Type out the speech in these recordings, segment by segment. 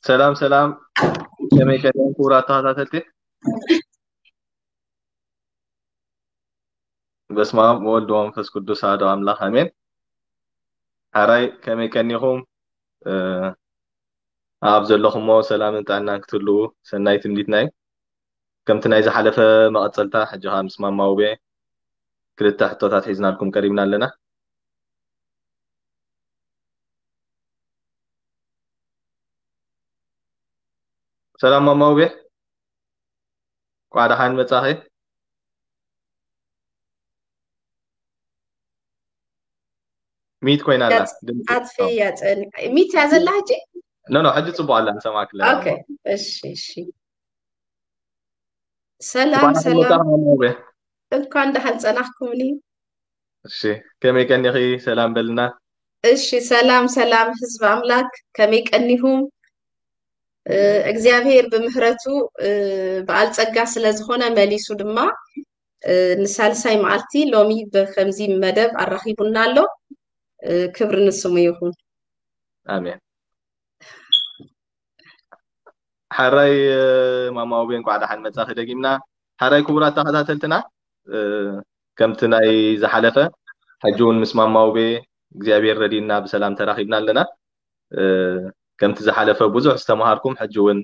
ሰላም ሰላም፣ ከመይ ቀኒኹም ክቡራት ተኸታተልቲ? በስመ አብ ወወልድ ወመንፈስ ቅዱስ አሐዱ አምላክ አሜን። ሓራይ ከመይ ቀኒኹም? ኣብ ዘለኹሞ ሰላምን ጥዕናን ክትህልዉ ሰናይ ትምኒትና እዩ። ከምቲ ናይ ዝሓለፈ መቐጸልታ፣ ሕጂ ኸኣ ምስ ማማ ውቤ ክልተ ሕቶታት ሒዝናልኩም ቀሪብና ኣለና። ሰላም ማማ ውቤ፣ እንኳዕ ደሓን መጻኺ። ሚት ኮይና ኣላ። ኣጥፍያ ጸኒ-፣ ሚት እያ ዘላ ሕጂ? ኖ፣ ኖ፣ ሕጂ ጽቡቕ ኣላ፣ ንሰማዕኪ ኣለና። ኦኬ፣ እሺ፣ እሺ። ሰላም፣ እንኳዕ ደሓን ሰላም። መጻኺ ማማ ውቤ። እንኳን ደሓን ጸናሕኩምኒ። እሺ፣ ከመይ ቀኒኺ? ሰላም በልና። እሺ፣ ሰላም፣ ሰላም ህዝቢ ኣምላክ፣ ከመይ ቀኒኹም? እ፣ እግዚኣብሔር ብምህረቱ፣ እ፣ በዓል ጸጋ ስለ ዝኾነ መሊሱ ድማ፣ እ፣ ንሳልሳይ መዓልቲ ሎሚ ብከምዚ መደብ ኣራኺቡና ኣሎ። እ፣ ክብሪ ንስሙ ይኹን። ኣሜን። ሓራይ፣ እ፣ ማማ ውቤ እንኳዕ ደሓን መጻኺ ደጊምና። ሓራይ ክቡራት ተኸታተልትና፣ እ፣ ከምቲ ናይ ዝሓለፈ፣ ሕጂ እውን ምስ ማማ ውቤ እግዚኣብሔር ረዲእና ብሰላም ተራኺብና ኣለና። እ፣ ከምቲ ዝሓለፈ ብዙሕ ዝተምሃርኩም፣ ሕጂ እውን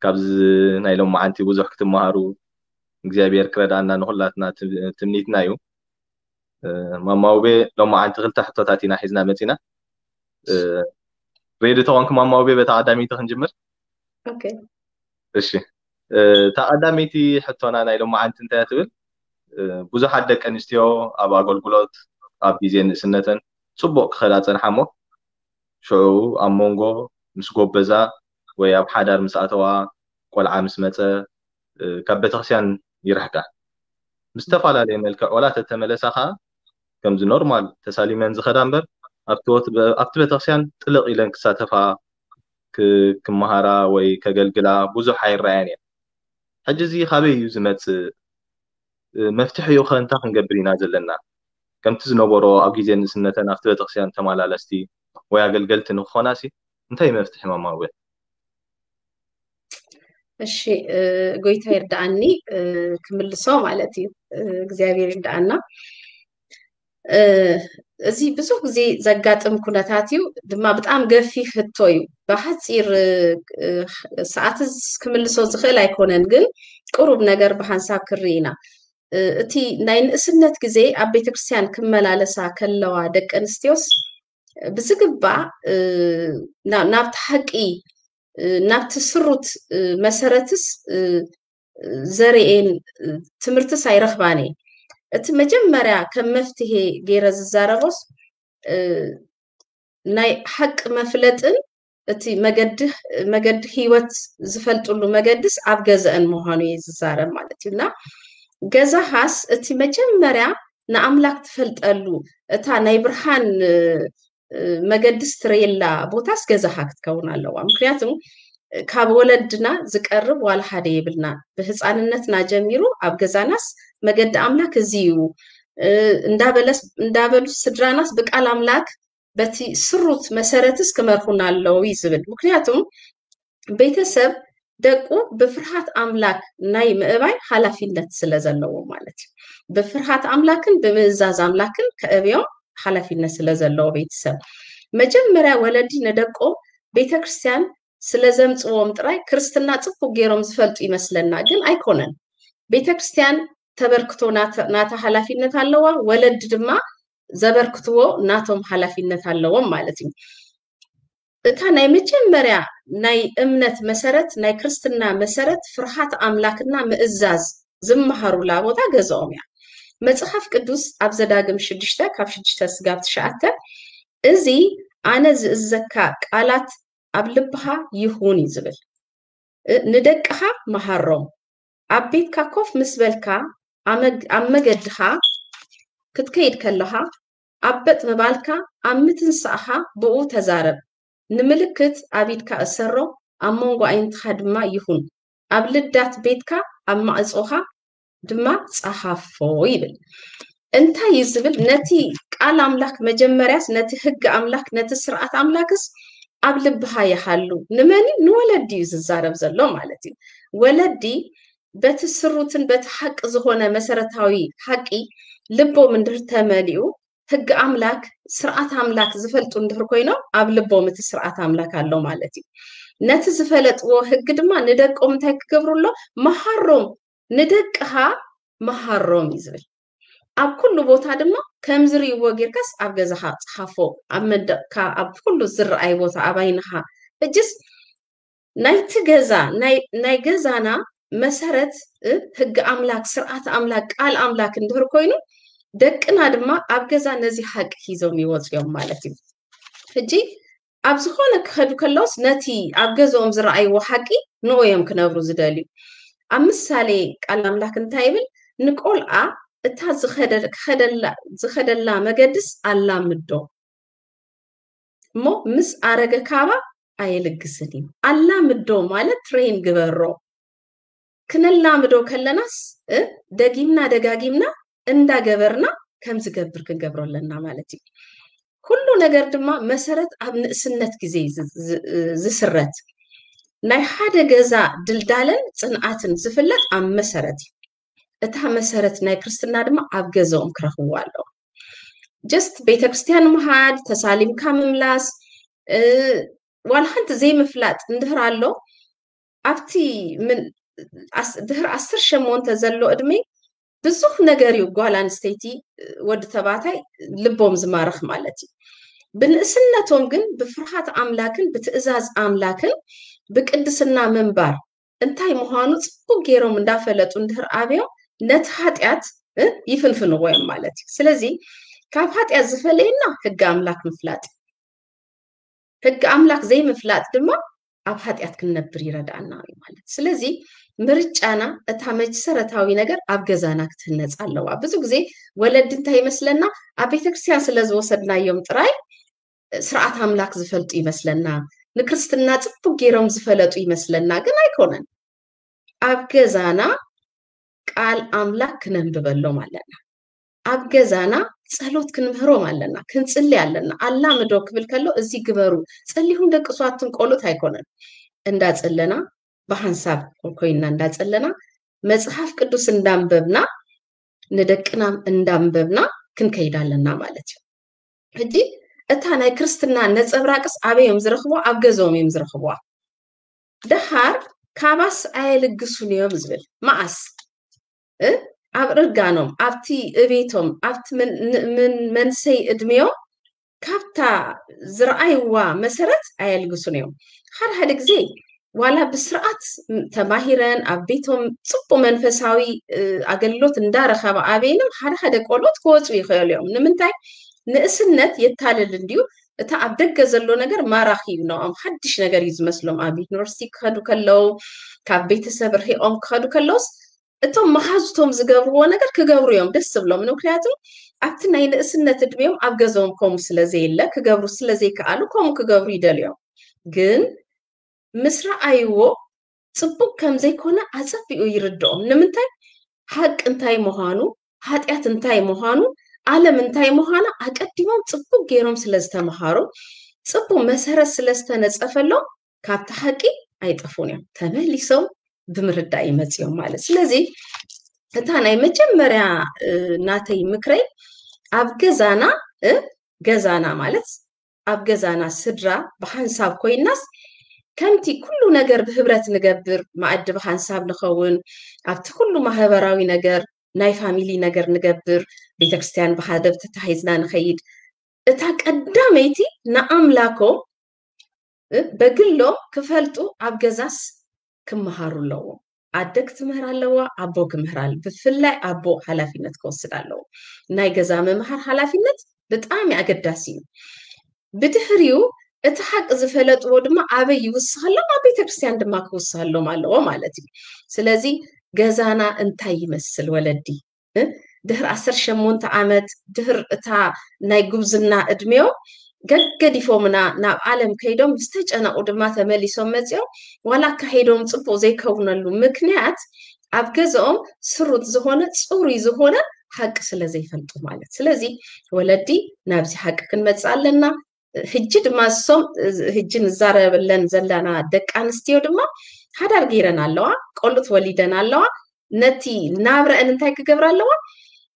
ካብዚ ናይ ሎማዓንቲ ብዙሕ ክትምሃሩ እግዚኣብሔር ክረድኣና ንኹላትና ት-፣ ትምኒትና እዩ። እ፣ ማማ ውቤ፣ ሎማዓንቲ ክልተ ሕቶታት ኢና ሒዝና መጺና። እ፣ ሬዲ ተኾንኪ ማማ ውቤ፣ በታ ቀዳመይቲ ክንጅምር? ኦኬ። እሺ። እ፣ እታ ቀዳመይቲ ሕቶና ናይ ሎማዓንቲ እንታይ እያ ትብል? እ፣ ብዙሓት ደቂ ኣንስትዮ ኣብ ኣገልግሎት፣ ኣብ ግዜ ንእስነተን ጽቡቕ ክኸዳ ጸንሓ እሞ፣ ሽዑ ኣብ መንጎ ምስ ጎበዛ ወይ ኣብ ሓዳር ምስ ኣተዋ፣ ቆልዓ ምስ መጸ፣ እ፣ ካብ ቤተክርስትያን ይርሕቃ። ብዝተፈላለየ መልክዕ ዋላ ተተመለሳ ኸኣ፣ ከምዚ ኖርማል ተሳሊመን ዝኸዳ እምበር፣ ኣብቲ ወት-፣ ኣብቲ ቤተክርስትያን ጥልቕ ኢለን ክሳተፋ፣ ክ-፣ ክመሃራ ወይ ከገልግላ ብዙሕ ኣይረኣያን እየን። ሕጂ እዚ ካበይ እዩ ዝመጽእ? እ፣ መፍትሒኡ ኸ እንታይ ክንገብር ኢና ዘለና? ከምቲ ዝነበሮ ኣብ ግዜ ንእስነተን ኣብቲ ቤተክርስትያን ተመላለስቲ ወይ ኣገልገልቲ ንክኾናሲ እንታይ መፍትሒ ማማ ውቤ? እሺ፣ እ፣ ጎይታ ይርድኣኒ፣ እ፣ ክምልሶ ማለት እዩ። እ፣ እግዚኣብሔር ይርድኣና። እ፣ እዚ ብዙሕ ግዜ ዘጋጥም ኩነታት እዩ፣ ድማ ብጣም ገፊሕ ሕቶ እዩ። ብሓጺር፣ እ፣ እ፣ ሰዓት ክምልሶ ዝኽእል ኣይኮነን፣ ግን ቁሩብ ነገር ብሓንሳብ ክርኢ ኢና። እ፣ እቲ ናይ ንእስነት ግዜ ኣብ ቤተክርስትያን ክመላለሳ ከለዋ ደቂ ኣንስትዮስ ብዝግባእ፣ እ፣ ና-፣ ናብቲ ሓቂ፣ እ፣ ናብቲ ስሩት፣ እ፣ መሰረትስ፣ እ፣ ዘርእየን፣ እ፣ ትምህርትስ ኣይረኽባን እየን። እቲ መጀመርያ ከም መፍትሄ ገይረ ዝዛረቦስ፣ እ፣ ናይ ሓቂ መፍለጥን እቲ መገዲ፣ መገዲ ህይወት ዝፈልጥሉ መገድስ ኣብ ገዛእን ምዃኑ እየ ዝዛረብ ማለት እዩ። እና ገዛኻስ እቲ መጀመርያ ንኣምላክ ትፈልጠሉ፣ እታ ናይ ብርሃን፣ እ፣ እ፣ መገድስ ትረየላ ቦታስ ገዛኻ ክትከውን ኣለዋ። ምክንያቱ ካብ ወለድና ዝቀርብ ዋላ ሓደ የብልና። ብህፃንነትና ጀሚሩ ኣብ ገዛናስ መገዲ ኣምላክ እዚ እዩ፣ እ፣ እንዳበለስ፣ እንዳበሉ ስድራናስ ብቃል ኣምላክ በቲ ስሩት መሰረትስ ክመርሑና ኣለዉ እዩ ዝብል። ምክንያቱ ቤተሰብ ደቁ ብፍርሃት ኣምላክ ናይ ምእባይ ሓላፊነት ስለ ዘለዎ ማለት እዩ። ብፍርሃት ኣምላክን ብምእዛዝ ኣምላክን ከእብዮም ሓላፊነት ስለ ዘለዎ ቤተሰብ፣ መጀመርያ ወለዲ ንደቆም ቤተክርስትያን ስለ ዘምጽዎም ጥራይ ክርስትና ጽቡቅ ገይሮም ዝፈልጡ ይመስለና፣ ግን ኣይኮነን። ቤተክርስትያን ተበርክቶ ናተ-፣ ናታ ሓላፊነት ኣለዋ፣ ወለዲ ድማ ዘበርክትዎ ናቶም ሓላፊነት ኣለዎም ማለት እዩ። እታ ናይ መጀመርያ ናይ እምነት መሰረት፣ ናይ ክርስትና መሰረት ፍርሃት ኣምላክና ምእዛዝ ዝመሃሩላ ቦታ ገዛኦም እያ። መጽሓፍ ቅዱስ ኣብ ዘዳግም ሽዱሽተ ካብ ሽዱሽተ ስጋብ ትሽዓተ፣ "እዚ ኣነ ዝእዘካ ቃላት ኣብ ልብኻ ይኹን" እዩ ዝብል። እ፣ ንደቅኻ መሃሮም። ኣብ ቤትካ ኮፍ ምስ በልካ፣ ኣመግ-፣ ኣብ መገድኻ ክትከይድ ከለኻ፣ ኣብ በጥ ምባልካ፣ ኣብ ምትንሳእኻ ብኡ ተዛረብ። ንምልክት ኣብ ኢድካ እሰሮ፣ ኣብ መንጎ ኣዒንትኻ ድማ ይኹን። ኣብ ልዳት ቤትካ፣ ኣብ ማዕጾኻ ድማ ጸሓፎ ይብል። እንታይ እዩ ዝብል? ነቲ ቃል ኣምላክ መጀመርያስ፣ ነቲ ህግ ኣምላክ፣ ነቲ ስርዓት ኣምላክስ ኣብ ልብኻ ይሃሉ። ንመን እዩ? ንወለዲ እዩ ዝዛረብ ዘሎ ማለት እዩ። ወለዲ በቲ ስሩትን በቲ ሓቂ ዝኾነ መሰረታዊ ሓቂ ልቦም እንድህር ተመሊኡ፣ ህጊ ኣምላክ፣ ስርዓት ኣምላክ ዝፈልጡ እንድህር ኮይኖም፣ ኣብ ልቦም እቲ ስርዓት ኣምላክ ኣሎ ማለት እዩ። ነቲ ዝፈለጥዎ ህጊ ድማ ንደቆም እንታይ ክገብሩ ኣሎ? መሃሮም፣ ንደቅኻ መሃሮም እዩ ዝብል። ኣብ ኩሉ ቦታ ድማ ከም ዝርእይዎ ጌርካስ ኣብ ገዛኻ ጽሓፎ፣ ኣብ መንደቕካ፣ ኣብ ኩሉ ዝረኣይ ቦታ፣ ኣብ ዓይንኻ። ሕጅስ ናይቲ ገዛ፣ ናይ፣ ናይ ገዛና መሰረት፣ እ፣ ህጊ ኣምላክ፣ ስርዓት ኣምላክ፣ ቃል ኣምላክ እንድህር ኮይኑ፣ ደቅና ድማ ኣብ ገዛ ነዚ ሓቂ ሒዞም ይወጽኡ እዮም ማለት እዩ። ሕጂ ኣብ ዝኾነ ክኸዱ ከለውስ ነቲ ኣብ ገዛኦም ዝረኣይዎ ሓቂ ንኡ እዮም ክነብሩ ዝደልዩ። ኣብ ምሳሌ ቃል ኣምላክ እንታይ ይብል? ንቆልዓ እታ ዝኸደ-፣ ክኸደላ-፣ ዝኸደላ መገድስ ኣላምዶ፣ እሞ ምስ ኣረገ ካባ ኣየልግስን እዩ። ኣላምዶ ማለት ትሬን ግበሮ። ክነላምዶ ከለናስ፣ እ፣ ደጊምና ደጋጊምና እንዳገበርና ከም ዝገብር ክንገብሮ ኣለና ማለት እዩ። ኩሉ ነገር ድማ መሰረት ኣብ ንእስነት ግዜ ዝ-፣ ዝ-፣ ዝስረት። ናይ ሓደ ገዛ ድልዳለን ጽንዓትን ዝፍለጥ ኣብ መሰረት እዩ። እታ መሰረት ናይ ክርስትና ድማ ኣብ ገዛኦም ክረኽብዋ ኣለዎም። ጀስት ቤተክርስትያን ምሃድ፣ ተሳሊምካ ምምላስ፣ እ፣ ዋላ ሓንቲ ዘይምፍላጥ እንድህር ኣሎ፣ ኣብቲ ምን-፣ ኣስ-፣ ድህሪ ዓሰርተ ሸሞንተ ዘሎ ዕድመ ብዙሕ ነገር እዩ ጓል ኣንስተይቲ፣ ወዲ ተባዕታይ ልቦም ዝማርኽ ማለት እዩ። ብንእስነቶም ግን ብፍርሃት ኣምላክን ብትእዛዝ ኣምላክን ብቅድስና ምንባር እንታይ ምዃኑ ጽቡቅ ገይሮም እንዳፈለጡ እንድህር ኣብዮም ነቲ ሓጢኣት፣ እ፣ ይፍንፍንዎ እዮም ማለት እዩ። ስለዚ ካብ ሓጢኣት ዝፈለየና ህጊ ኣምላክ ምፍላጥ እዩ። ህጊ ኣምላክ ዘይምፍላጥ ድማ ኣብ ሓጢኣት ክንነብር ይረድኣና እዩ ማለት። ስለዚ ምርጫና፣ እታ መሰረታዊ ነገር ኣብ ገዛና ክትህነጽ ኣለዋ። ብዙ ግዜ ወለዲ እንታይ ይመስለና? ኣብ ቤተክርስትያን ስለ ዝወሰድናዮም ጥራይ ስርዓት ኣምላክ ዝፈልጡ ይመስለና፣ ንክርስትና ጽቡቅ ገይሮም ዝፈለጡ ይመስለና፣ ግን ኣይኮነን። ኣብ ገዛና ቃል ኣምላክ ክነንብበሎም ኣለና። ኣብ ገዛና ጸሎት ክንምህሮም ኣለና፣ ክንጽሊ ኣለና። ኣላምዶ ክብል ከሎ፣ እዚ ግበሩ፣ ጸሊኹም ደቂ ሰባትን ቆልኡት ኣይኮነን። እንዳጸለና፣ ብሓንሳብ ኮይንና እንዳጸለና፣ መጽሓፍ ቅዱስ እንዳንበብና፣ ንደቅና እንዳንበብና ክንከይድ ኣለና ማለት እዩ። ሕጂ እታ ናይ ክርስትና ነጸብራቅስ ኣበይ እዮም ዝረኽብዋ? ኣብ ገዛኦም እዮም ዝረኽብዋ። ደሓር ካባስ ኣየልግሱን እዮም ዝብል። መዓስ? እ? ኣብ እርጋኖም፣ ኣብቲ እቤቶም፣ ኣብቲ ምን-፣ ን-፣ ምን-፣ መንሰይ እድሜኦም ካብታ ዝረኣይዋ መሰረት ኣየልግሱን እዮም። ሓደ ሓደ ግዜ ዋላ ብስርዓት ተማሂረን ኣብ ቤቶም ጽቡቅ መንፈሳዊ፣ እ፣ ኣገልግሎት እንዳረኸባ ኣበይንም ሓደ ሓደ ቆልዑት ክወጹ ይኽእሉ እዮም። ንምንታይ? ንእስነት የታልል እንድዩ። እታ ኣብ ደገ ዘሎ ነገር ማራኺ እዩ ንኦም፣ ሓድሽ ነገር እዩ ዝመስሎም። ኣብ ዩኒቨርሲቲ ክኸዱ ከለዉ፣ ካብ ቤተሰብ ርሒቆም ክኸዱ ከለዉስ፣ እቶም መሃዙቶም ዝገብርዎ ነገር ክገብሩ እዮም ደስ ዝብሎም። ምክንያቱ ኣብቲ ናይ ንእስነት እድሜኦም ኣብ ገዛኦም ከምኡ ስለ ዘየለ፣ ክገብሩ ስለ ዘይከኣሉ፣ ከምኡ ክገብሩ ይደልዮም። ግን ምስ ረኣይዎ ጽቡቅ ከም ዘይኮነ ኣጸቢቑ ይርድኦም። ንምንታይ? ሓቂ እንታይ ምዃኑ፣ ሓጢኣት እንታይ ምዃኑ፣ ዓለም እንታይ ምዃና ኣቀዲሞም ጽቡቅ ገይሮም ስለ ዝተምሃሩ፣ ጽቡቅ መሰረት ስለ ዝተነጸፈሎም፣ ካብቲ ሓቂ ኣይጠፉን እዮም። ተመሊሶም ብምርዳእ ይመጽኦም ማለት። ስለዚ እታ ናይ መጀመርያ፣ እ፣ ናተይ ምክረይ፣ ኣብ ገዛና፣ እ፣ ገዛና ማለት ኣብ ገዛና ስድራ ብሓንሳብ ኮይናስ፣ ከምቲ ኩሉ ነገር ብህብረት ንገብር፣ መኣዲ ብሓንሳብ ንኸውን፣ ኣብቲ ኩሉ ማህበራዊ ነገር፣ ናይ ፋሚሊ ነገር ንገብር፣ ቤተክርስትያን ብሓደ ተታሒዝና ንኸይድ፣ እታ ቀዳመይቲ ንኣምላኮም፣ እ፣ በግሎም ክፈልጡ ኣብ ገዛስ ክመሃሩ ኣለዎም። ኣደ ክትምህር ኣለዋ፣ ኣቦ ክምህር ኣለ-፣ ብፍላይ ኣቦ ሓላፊነት ክወስድ ኣለዎ። ናይ ገዛ ምምሃር ሓላፊነት ብጣዕሚ ኣገዳሲ እዩ። ብድሕሪኡ እቲ ሓቂ ዝፈለጥዎ ድማ ኣበይ ይውስኸሎም? ኣብ ቤተክርስትያን ድማ ክውስኸሎም ኣለዎ ማለት እዩ። ስለዚ ገዛና እንታይ ይመስል ወለዲ? እ? ድሕሪ ዓሰርተ ሸሞንተ ዓመት፣ ድሕሪ እታ ናይ ጉብዝና እድሜኦም ገገዲፎምና ናብ ዓለም ከይዶም፣ ዝተጨነቑ ድማ ተመሊሶም መጺኦም፣ ዋላ ኣካይዶም ጽቡቕ ዘይከውነሉ ምክንያት ኣብ ገዛኦም ስሩት ዝኾነ፣ ጽሩይ ዝኾነ ሓቂ ስለ ዘይፈልጡ ማለት። ስለዚ ወለዲ ናብዚ ሓቂ ክንመጽእ ኣለና። ሕጂ ድማ እሶም ሕጂ ንዛረበለን ዘለና ደቂ ኣንስትዮ ድማ ሓዳር ገይረን ኣለዋ፣ ቆልዑት ወሊደን ኣለዋ። ነቲ ናብረአን እንታይ ክገብራ ኣለዋ?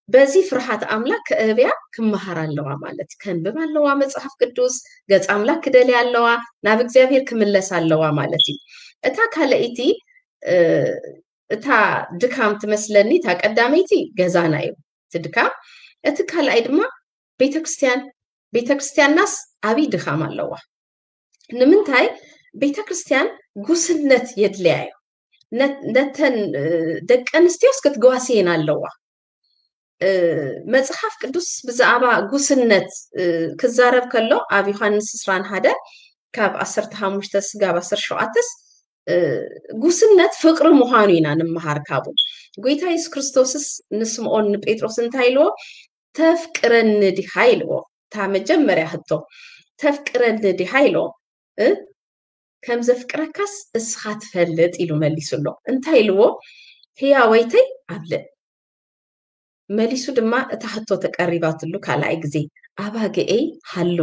በዚ ፍርሃት ኣምላክ ከእብያ ክመሃር ኣለዋ ማለት እዩ። ከንብብ ኣለዋ መጽሓፍ ቅዱስ፣ ገጽ ኣምላክ ክደልያ ኣለዋ፣ ናብ እግዚኣብሔር ክምለስ ኣለዋ ማለት እዩ። እታ ካልኣይቲ እታ ድካም ትመስለኒ፣ እታ ቀዳመይቲ ገዛና እዩ እቲ ድካም። እቲ ካልኣይ ድማ ቤተክርስትያን፣ ቤተክርስትያንናስ ዓብይ ድካም ኣለዋ። ንምንታይ? ቤተክርስትያን ጉስነት የድልያ እዩ። ነተን ደቂ ኣንስትዮስ ክትጓስየን ኣለዋ። መፅሓፍ ቅዱስ ብዛዕባ ጉስነት ክዛረብ ከሎ ኣብ ዮሃንስ ዕስራን ሓደ ካብ ዓሰርተ ሓሙሽተ ስጋብ ዓሰርተ ሸውዓተስ ጉስነት ፍቅሪ ምዃኑ ኢና ንምሃር ካብኡ። ጎይታ የሱስ ክርስቶስስ ንስምኦን ንጴጥሮስ እንታይ ኢልዎ? ተፍቅረኒ ዲኻ ኢልዎ። እታ መጀመርያ ህቶ ተፍቅረኒ ዲኻ ኢልዎ። ከም ዘፍቅረካስ እስኻ ትፈልጥ ኢሉ መሊሱሎ። እንታይ ኢልዎ? ህያወይተይ ኣብልእ። መሊሱ ድማ እታ ህቶ ተቀሪባትሉ ካልኣይ ግዜ ኣባገኤይ ሃሉ።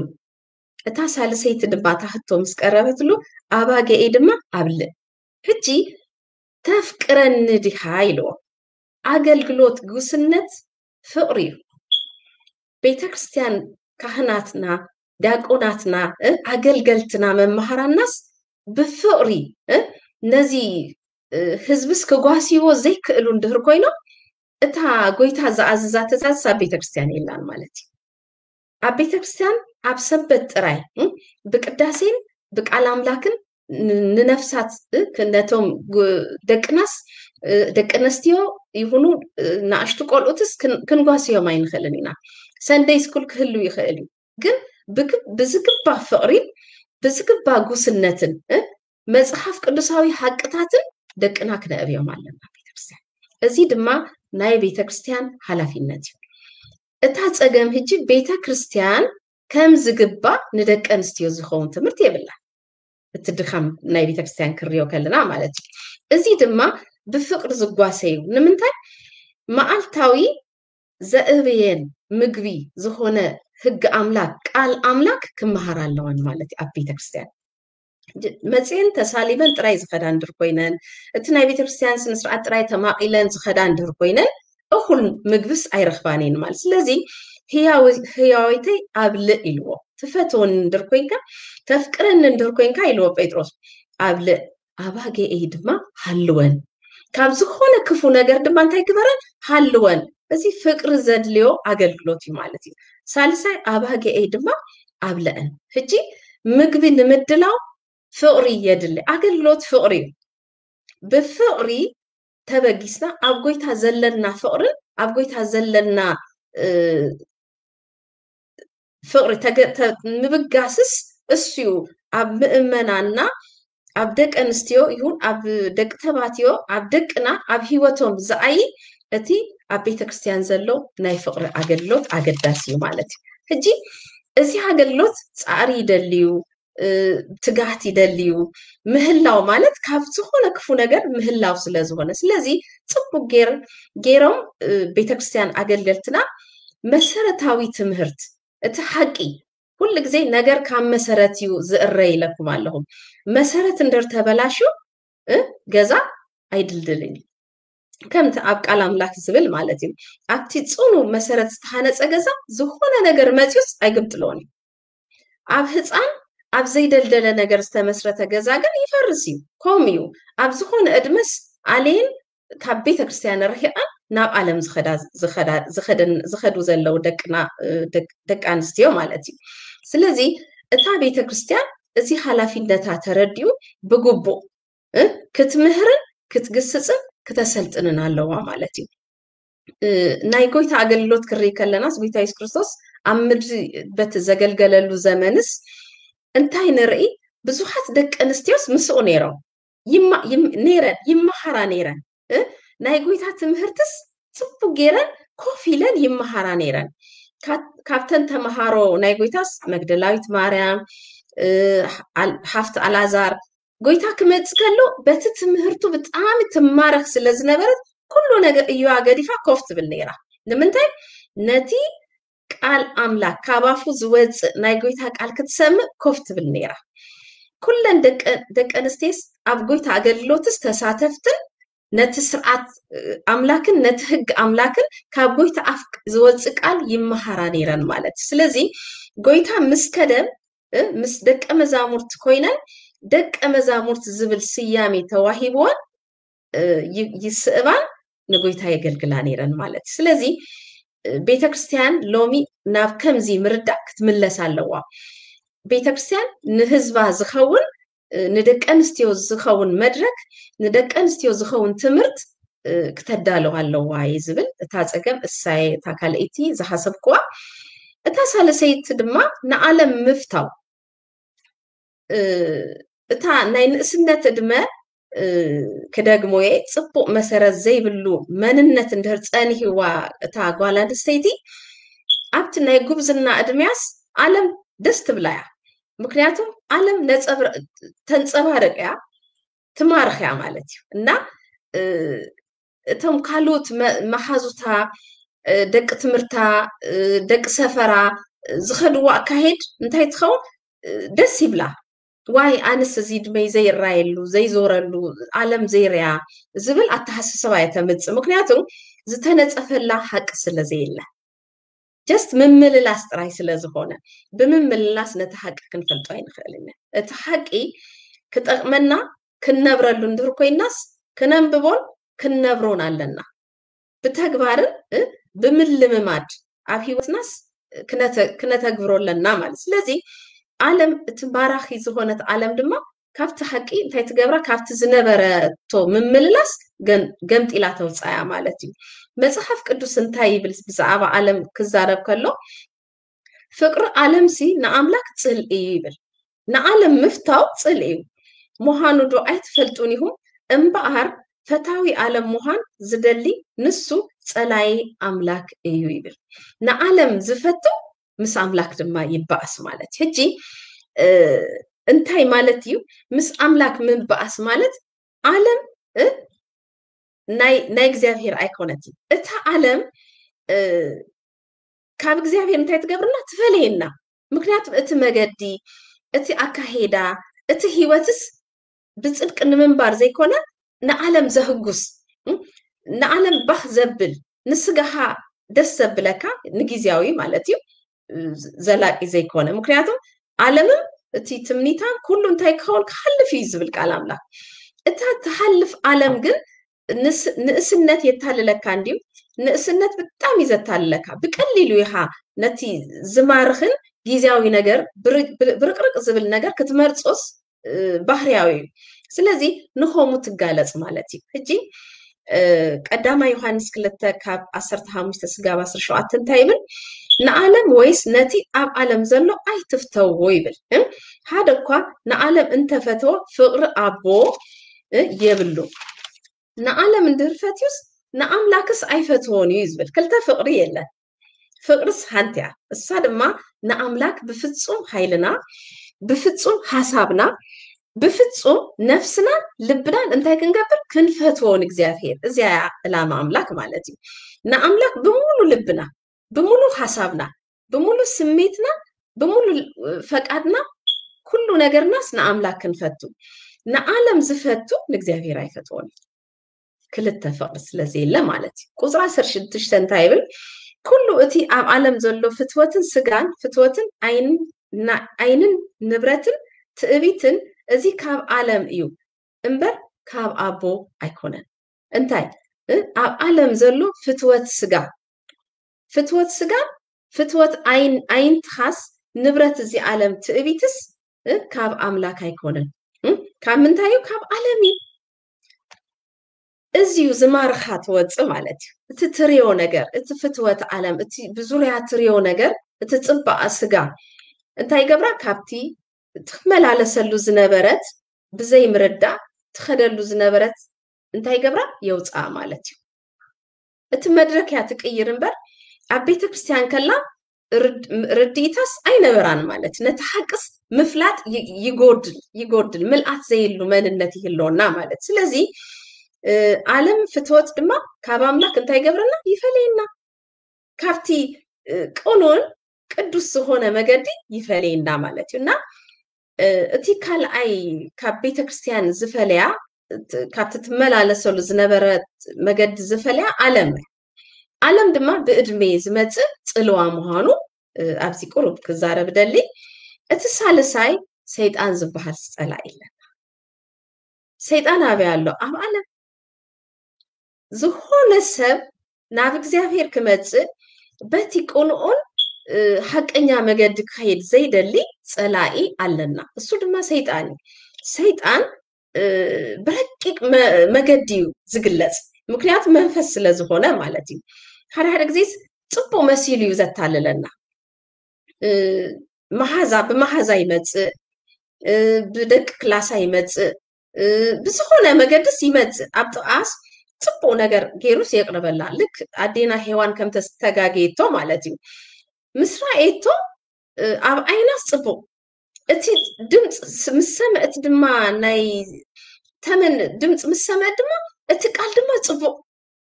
እታ ሳልሰይቲ ድማ እታ ህቶ ምስ ቀረበትሉ ኣባገኤይ ድማ ኣብልእ። ሕጂ ተፍቅረኒ ዲኻ ኢልዎ። ኣገልግሎት ጉስነት ፍቅሪ እዩ። ቤተ ክርስቲያን ካህናትና፣ ዲያቆናትና፣ ኣገልገልትና፣ መማህራናስ ብፍቅሪ ነዚ ህዝብስ ክጓስይዎ ዘይክእሉ እንድህር ኮይኖም እታ ጎይታ ዝኣዘዛ ትእዛዝ ኣብ ቤተ ክርስቲያን የላን ማለት እዩ። ኣብ ቤተ ክርስቲያን ኣብ ሰንበት ጥራይ ብቅዳሴን ብቃል ኣምላክን ንነፍሳት ነቶም ደቅናስ ደቂ ኣንስትዮ ይኹኑ ንኣሽቱ ቆልኡትስ ክንጓስዮም ኣይንኽእልን ኢና። ሰንደይ ስኩል ክህሉ ይኽእል እዩ፣ ግን ብዝግባ ፍቅሪን ብዝግባ ጉስነትን መፅሓፍ ቅዱሳዊ ሓቅታትን ደቅና ክነእብዮም ኣለና ቤተክርስትያን። እዚ ድማ ናይ ቤተክርስትያን ሓላፊነት እዩ። እታ ፀገም ህጂ ቤተክርስትያን ከም ዝግባ ንደቂ ኣንስትዮ ዝኸውን ትምህርቲ የብላን። እቲ ድኻም ናይ ቤተክርስትያን ክሪኦ ከለና ማለት እዩ። እዚ ድማ ብፍቅሪ ዝጓሰ እዩ። ንምንታይ? መዓልታዊ ዘእብየን ምግቢ ዝኾነ ህግ ኣምላክ፣ ቃል ኣምላክ ክመሃር ኣለወን ማለት እዩ ኣብ ቤተክርስትያን። መፅየን ተሳሊመን ጥራይ ዝኸዳ እንድር ኮይነን፣ እቲ ናይ ቤተክርስትያን ስነስርዓት ጥራይ ተማቒለን ዝኸዳ እንድር ኮይነን እኹል ምግብስ ኣይረኽባን እየን ማለት። ስለዚ ህያወይተይ ኣብልእ ኢልዎ። ትፈትወኒ እንድር ኮይንካ፣ ተፍቅረኒ እንድር ኮይንካ ኢልዎ ጴጥሮስ፣ ኣብልእ፣ ኣባገኤይ ድማ ሃልወን፣ ካብ ዝኾነ ክፉ ነገር ድማ እንታይ ግበረን? ሃልወን። እዚ ፍቅሪ ዘድልዮ ኣገልግሎት እዩ ማለት እዩ። ሳልሳይ ኣባገኤይ ድማ ኣብልአን። ሕጂ ምግቢ ንምድላው ፍቅሪ የድሊ። ኣገልግሎት ፍቅሪ እዩ። ብፍቅሪ ተበጊስና ኣብ ጎይታ ዘለና ፍቅርን ኣብ ጎይታ ዘለና ፍቅሪ ምብጋስስ እሱ ኣብ ምእመናንና፣ ኣብ ደቂ ኣንስትዮ ይኹን ኣብ ደቂ ተባትዮ፣ ኣብ ደቅና፣ ኣብ ህይወቶም ዝኣይ እቲ ኣብ ቤተክርስትያን ዘሎ ናይ ፍቅሪ ኣገልግሎት ኣገዳሲ እዩ ማለት እዩ። ሕጂ እዚ ኣገልግሎት ፃዕሪ ይደልዩ፣ ትጋህት ይደልዩ። ምህላው ማለት ካብ ዝኾነ ክፉ ነገር ምህላው ስለ ዝኾነ፣ ስለዚ ፅቡቅ ገይር ገይሮም ቤተክርስትያን ኣገልገልትና መሰረታዊ ትምህርት፣ እቲ ሓቂ ኩሉ ግዜ ነገር ካብ መሰረት እዩ ዝእረ ኢለኩም ኣለኹም። መሰረት እንድር ተበላሹ ገዛ ኣይድልድልን እዩ። ከምቲ ኣብ ቃል ኣምላክ ዝብል ማለት እዩ፣ ኣብቲ ፅኑ መሰረት ዝተሃነፀ ገዛ ዝኾነ ነገር መፅዩስ ኣይግምጥሎን እዩ። ኣብ ህፃን ኣብ ዘይደልደለ ነገር ዝተመስረተ ገዛ ግን ይፈርስ እዩ። ከምኡ እዩ ኣብ ዝኾነ እድመስ ኣሌን ካብ ቤተ ክርስትያን ርሒቐን ናብ ዓለም ዝኸዱ ዘለዉ ደቂ ኣንስትዮ ማለት እዩ። ስለዚ እታ ቤተ ክርስትያን እዚ ሓላፊነታ ተረዲኡ ብግቡእ ክትምህርን ክትግስፅን ክተሰልጥንን ኣለዋ ማለት እዩ። ናይ ጎይታ ኣገልግሎት ክርኢ ከለናስ ጎይታ የሱስ ክርስቶስ ኣብ ምድሪ በቲ ዘገልገለሉ ዘመንስ እንታይ ንርኢ? ብዙሓት ደቂ ኣንስትዮስ ምስኡ ነይሮም ነይረን ይመሃራ ነይረን። ናይ ጎይታ ትምህርትስ ፅቡቅ ገይረን ኮፍ ኢለን ይመሃራ ነይረን። ካብተን ተምሃሮ ናይ ጎይታስ መግደላዊት ማርያም፣ ሓፍቲ ኣላዛር፣ ጎይታ ክመጽእ ከሎ በቲ ትምህርቱ ብጣዕሚ ትማረኽ ስለ ዝነበረት ኩሉ ነገር እዮኣ ገዲፋ ኮፍ ትብል ነይራ። ንምንታይ? ነቲ ቃል ኣምላክ ካብ ኣፉ ዝወፅእ ናይ ጎይታ ቃል ክትሰምዕ ኮፍ ትብል ነይራ። ኩለን ደቂ ኣንስቴስ ኣብ ጎይታ ኣገልግሎትስ ተሳተፍትን ነቲ ስርዓት ኣምላክን ነቲ ህግ ኣምላክን ካብ ጎይታ ኣፍ ዝወፅእ ቃል ይመሃራ ነይረን ማለት እዩ። ስለዚ ጎይታ ምስ ከደ ምስ ደቀ መዛሙርት ኮይነን ደቀ መዛሙርት ዝብል ስያሜ ተዋሂብወን ይስእባን ንጎይታ የገልግላ ነይረን ማለት እዩ። ስለዚ ቤተክርስትያን ሎሚ ናብ ከምዚ ምርዳእ ክትምለስ ኣለዋ። ቤተክርስትያን ንህዝባ ዝኸውን ንደቂ ኣንስትዮ ዝኸውን መድረክ ንደቂ ኣንስትዮ ዝኸውን ትምህርት ክተዳልዋ ኣለዋ እየ ዝብል። እታ ፀገም እሳየ እታ ካልኣይቲ ዝሓሰብክዋ። እታ ሳልሰይቲ ድማ ንዓለም ምፍታው እታ ናይ ንእስነት እድመ ክደግሞየ ፅቡቅ መሰረት ዘይብሉ መንነት እንድህር ፀኒህዋ እታ ጓል ኣንስተይቲ ኣብቲ ናይ ጉብዝና እድሜያስ ዓለም ደስ ትብላ እያ። ምክንያቱም ዓለም ተንፀባርቅ እያ ትማርኽ እያ ማለት እዩ እና እቶም ካልኦት መሓዙታ ደቂ ትምህርታ ደቂ ሰፈራ ዝኸድዎ ኣካሄድ እንታይ ትኸውን ደስ ይብላ። ዋይ ኣንስ እዚ ድመይ ዘይራየሉ ዘይዞረሉ ዓለም ዘይርያ ዝብል ኣተሓሳስባ እየ ተምፅእ። ምክንያቱ ዝተነፀፈላ ሓቂ ስለ ዘየለ ጀስት ምምልላስ ጥራይ ስለ ዝኾነ ብምምልላስ ነቲ ሓቂ ክንፈልጦ ኣይንኽእልን። እቲ ሓቂ ክጠቕመና ክንነብረሉ እንድህር ኮይናስ ክነንብቦን ክንነብሮን ኣለና። ብተግባርን ብምልምማድ ኣብ ህይወትናስ ክነተግብሮ ኣለና ማለት። ስለዚ ዓለም እቲ ባራኺ ዝኾነት ዓለም ድማ ካብቲ ሓቂ እንታይ ትገብራ ካብቲ ዝነበረቶ ምምልላስ ገምጢላ ተውፃያ ማለት እዩ። መፅሓፍ ቅዱስ እንታይ ይብል ብዛዕባ ዓለም ክዛረብ ከሎ ፍቅሪ ዓለምሲ ንኣምላክ ፅል እዩ ይብል። ንዓለም ምፍታው ፅል እዩ። ምዃኑ ዶ ኣይትፈልጡን ኢኹም? እምበኣር ፈታዊ ዓለም ምዃን ዝደሊ ንሱ ጸላይ ኣምላክ እዩ ይብል። ንዓለም ዝፈቱ ምስ ኣምላክ ድማ ይበኣስ ማለት እዩ። ሕጂ እንታይ ማለት እዩ? ምስ ኣምላክ ምበኣስ ማለት ዓለም ናይ እግዚኣብሔር ኣይኮነትን። እታ ዓለም ካብ እግዚኣብሔር እንታይ ትገብርና? ትፈለየና። ምክንያቱም እቲ መገዲ፣ እቲ ኣካሄዳ፣ እቲ ህይወትስ ብፅድቂ ንምንባር ዘይኮነ ንዓለም ዘህጉስ ንዓለም ባህ ዘብል ንስጋኻ ደስ ዘብለካ ንግዜያዊ ማለት እዩ ዘላቂ ዘይኮነ። ምክንያቱም ዓለምም እቲ ትምኒታን ኩሉ እንታይ ክኸውን ክሓልፍ እዩ ዝብል ቃል ኣምላኽ። እታ ትሓልፍ ዓለም ግን ንእስነት የታልለካ እንድዩ። ንእስነት ብጣዕሚ እዩ ዘታልለካ። ብቀሊሉ ኢኻ ነቲ ዝማርኽን ግዜያዊ ነገር ብርቅርቅ ዝብል ነገር ክትመርጾስ ባህርያዊ እዩ። ስለዚ ንኸሙ ትጋለጽ ማለት እዩ። ሕጂ ቀዳማይ ዮሃንስ ክልተ ካብ ዓሰርተ ሓሙሽተ ስጋብ ዓሰርተ ሸውዓተ እንታይ ይብል? ንዓለም ወይስ ነቲ ኣብ ዓለም ዘሎ ኣይትፍተዎ ይብል። ሓደ እኳ ንዓለም እንተፈትዎ ፍቕሪ ኣቦ የብሉ። ንዓለም እንድህር ፈትዩስ ንኣምላክስ ኣይፈትዎን እዩ ዝብል። ክልተ ፍቕሪ የለን። ፍቕርስ ሓንቲ እያ። እሳ ድማ ንኣምላክ ብፍጹም ሓይልና፣ ብፍጹም ሓሳብና፣ ብፍጹም ነፍስና ልብናን እንታይ ክንገብር? ክንፈትዎ ንእግዚኣብሔር። እዚኣ እያ ዕላማ ኣምላክ ማለት እዩ። ንኣምላክ ብሙሉ ልብና፣ ብሙሉ ሓሳብና፣ ብሙሉ ስሜትና፣ ብሙሉ ፈቃድና ኩሉ ነገርናስ ንኣምላክ ክንፈቱ። ንዓለም ዝፈቱ ንእግዚኣብሔር ኣይፈትዎን እዩ። ክልተ ፍቕሪ ስለ ዘየለ ማለት እዩ። ቁፅሪ ዓሰርተ ሽዱሽተ እንታይ ይብል? ኩሉ እቲ ኣብ ዓለም ዘሎ ፍትወትን ስጋን ፍትወትን ዓይንን ንብረትን ትዕቢትን እዚ ካብ ዓለም እዩ እምበር ካብ ኣቦ ኣይኮነን። እንታይ ኣብ ዓለም ዘሎ ፍትወት ስጋ ፍትወት ስጋ ፍትወት ዓይን ኣይንትኻስ ንብረት እዚ ዓለም ትዕቢትስ ካብ ኣምላክ ኣይኮነን። ካብ ምንታይ እዩ? ካብ ዓለም እዩ። እዚዩ ዝማርኻ ትወፅእ ማለት እዩ። እቲ ትሪዮ ነገር እቲ ፍትወት ዓለም እቲ ብዙርያ ትሪዮ ነገር እቲ ፅባቐ ስጋ እንታይ ገብራ ካብቲ ትመላለሰሉ ዝነበረት ብዘይ ምርዳእ ትኸደሉ ዝነበረት እንታይ ገብራ የውፅኣ ማለት እዩ። እቲ መድረክ እያ ትቅይር እምበር ኣብ ቤተ ክርስትያን ከላ ርድኢታስ ኣይነበራን ማለት ነቲ ሓቅስ ምፍላጥ ይጎድል ይጎድል ምልኣት ዘይሉ መንነት ይህልወና ማለት ስለዚ ዓለም ፍትወት ድማ ካብ ኣምላክ እንታይ ገብረና ይፈለየና ካብቲ ቅኑን ቅዱስ ዝኾነ መገዲ ይፈለየና ማለት እዩ። እና እቲ ካልኣይ ካብ ቤተክርስትያን ዝፈለያ፣ ካብቲ ትመላለሰሉ ዝነበረት መገዲ ዝፈለያ ዓለም፣ ዓለም ድማ ብእድሜ ዝመፅእ ፅልዋ ምዃኑ ኣብዚ ቁሩብ ክዛረብ ደሊ። እቲ ሳልሳይ ሰይጣን ዝበሃል ፀላኢ ኣለና። ሰይጣን ኣበይ ኣሎ? ኣብ ዓለም። ዝኾነ ሰብ ናብ እግዚኣብሔር ክመፅእ በቲ ቅንኡን ሓቀኛ መገዲ ክኸይድ ዘይደሊ ፀላኢ ኣለና። እሱ ድማ ሰይጣን እዩ። ሰይጣን ብረቂቅ መገዲ እዩ ዝግለፅ፣ ምክንያቱ መንፈስ ስለዝኾነ ማለት እዩ። ሓደ ሓደ ግዜስ ፅቡቅ መሲሉ እዩ ዘታልለና። መሓዛ ብመሓዛ ይመፅእ፣ ብደቂ ክላሳ ይመፅእ፣ ብዝኾነ መገድስ ይመፅእ። ኣብ ጥቓስ ፅቡቅ ነገር ገይሩስ የቅርበላ። ልክ ኣዴና ሄዋን ከም ተስተጋገየቶ ማለት እዩ። ምስ ረኣየቶ ኣብ ዓይናስ ፅቡቅ፣ እቲ ድምፂ ምስ ሰምዐት ድማ ናይ ተመን ድምፂ ምስ ሰምዐት ድማ እቲ ቃል ድማ ፅቡቅ፣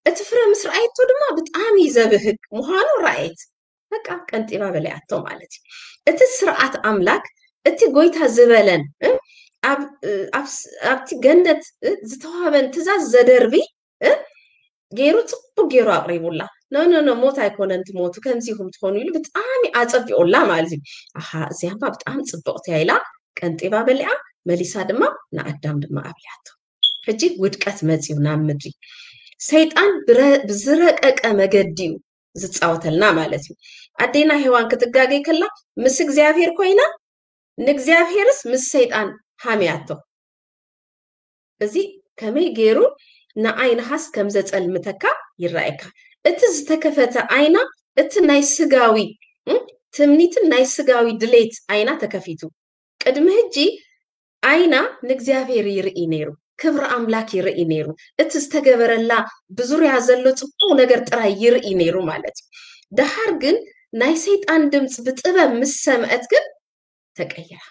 እቲ ፍረ ምስ ረኣየቶ ድማ ብጣዕሚ ዘብህግ ምዃኑ ረኣየት። በቃ ቀንጢባ በሊዓቶ ማለት እዩ። እቲ ስርዓት ኣምላክ፣ እቲ ጎይታ ዝበለን ኣብቲ ገነት ዝተዋህበን ትእዛዝ ዘደርቢ ገይሩ ፅቡቅ ገይሩ ኣቅሪቡላ። ኖ ኖ ኖ፣ ሞት ኣይኮነን ትሞቱ፣ ከምዚ ኢኹም ትኾኑ ኢሉ ብጣዕሚ ኣፀቢቁላ ማለት እዩ። ኣሃ፣ እዚኣ እባ ብጣዕሚ ፅብቅቲ እያ ኢላ ቀንጢባ በሊዓ፣ መሊሳ ድማ ንኣዳም ድማ ኣብሊዓቶ። ሕጂ ውድቀት መፅዩ ናብ ምድሪ። ሰይጣን ብዝረቀቀ መገዲ እዩ ዝፃወተልና ማለት እዩ። ኣዴና ሄዋን ክትጋገይ ከላ ምስ እግዚኣብሔር ኮይና፣ ንእግዚኣብሔርስ ምስ ሰይጣን ሃምያቶ። እዚ ከመይ ገይሩ ንዓይንኻስ ከም ዘጸልምተካ ይረኣየካ። እቲ ዝተከፈተ ዓይና እቲ ናይ ስጋዊ ትምኒትን ናይ ስጋዊ ድሌት ዓይና ተከፊቱ። ቅድሚ ሕጂ ዓይና ንእግዚኣብሔር ይርኢ ነይሩ፣ ክብሪ ኣምላክ ይርኢ ነይሩ። እቲ ዝተገበረላ ብዙርያ ዘሎ ጽቡቅ ነገር ጥራይ ይርኢ ነይሩ ማለት እዩ። ደሓር ግን ናይ ሰይጣን ድምፂ ብጥበብ ምስ ሰምዐት ግን ተቀይራ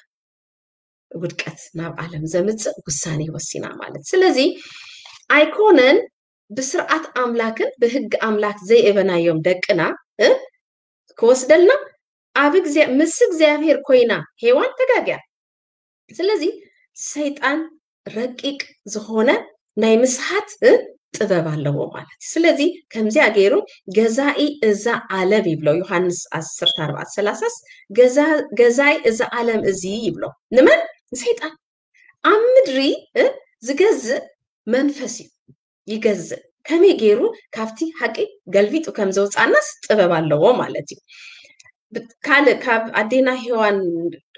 ውድቀት ናብ ዓለም ዘምፅእ ውሳኔ ወሲና ማለት። ስለዚ ኣይኮነን ብስርዓት ኣምላክን ብህግ ኣምላክ ዘይእበናዮም ደቅና ክወስደልና ኣብ ምስ እግዚኣብሔር ኮይና ሄዋን ተጋግያ። ስለዚ ሰይጣን ረቂቅ ዝኾነ ናይ ምስሓት ጥበብ ኣለዎ ማለት እዩ። ስለዚ ከምዚኣ ገይሩ ገዛኢ እዛ ዓለም ይብሎ ዮሃንስ ዓሰርተ ኣርባዕተ ሰላሳስ፣ ገዛኢ እዛ ዓለም እዚ ይብሎ። ንመን? ንሰይጣን። ኣብ ምድሪ ዝገዝእ መንፈስ እዩ። ይገዝእ። ከመይ ገይሩ ካብቲ ሓቂ ገልቢጡ ከም ዘውፃናስ ጥበብ ኣለዎ ማለት እዩ። ካልእ ካብ ኣዴና ሄዋን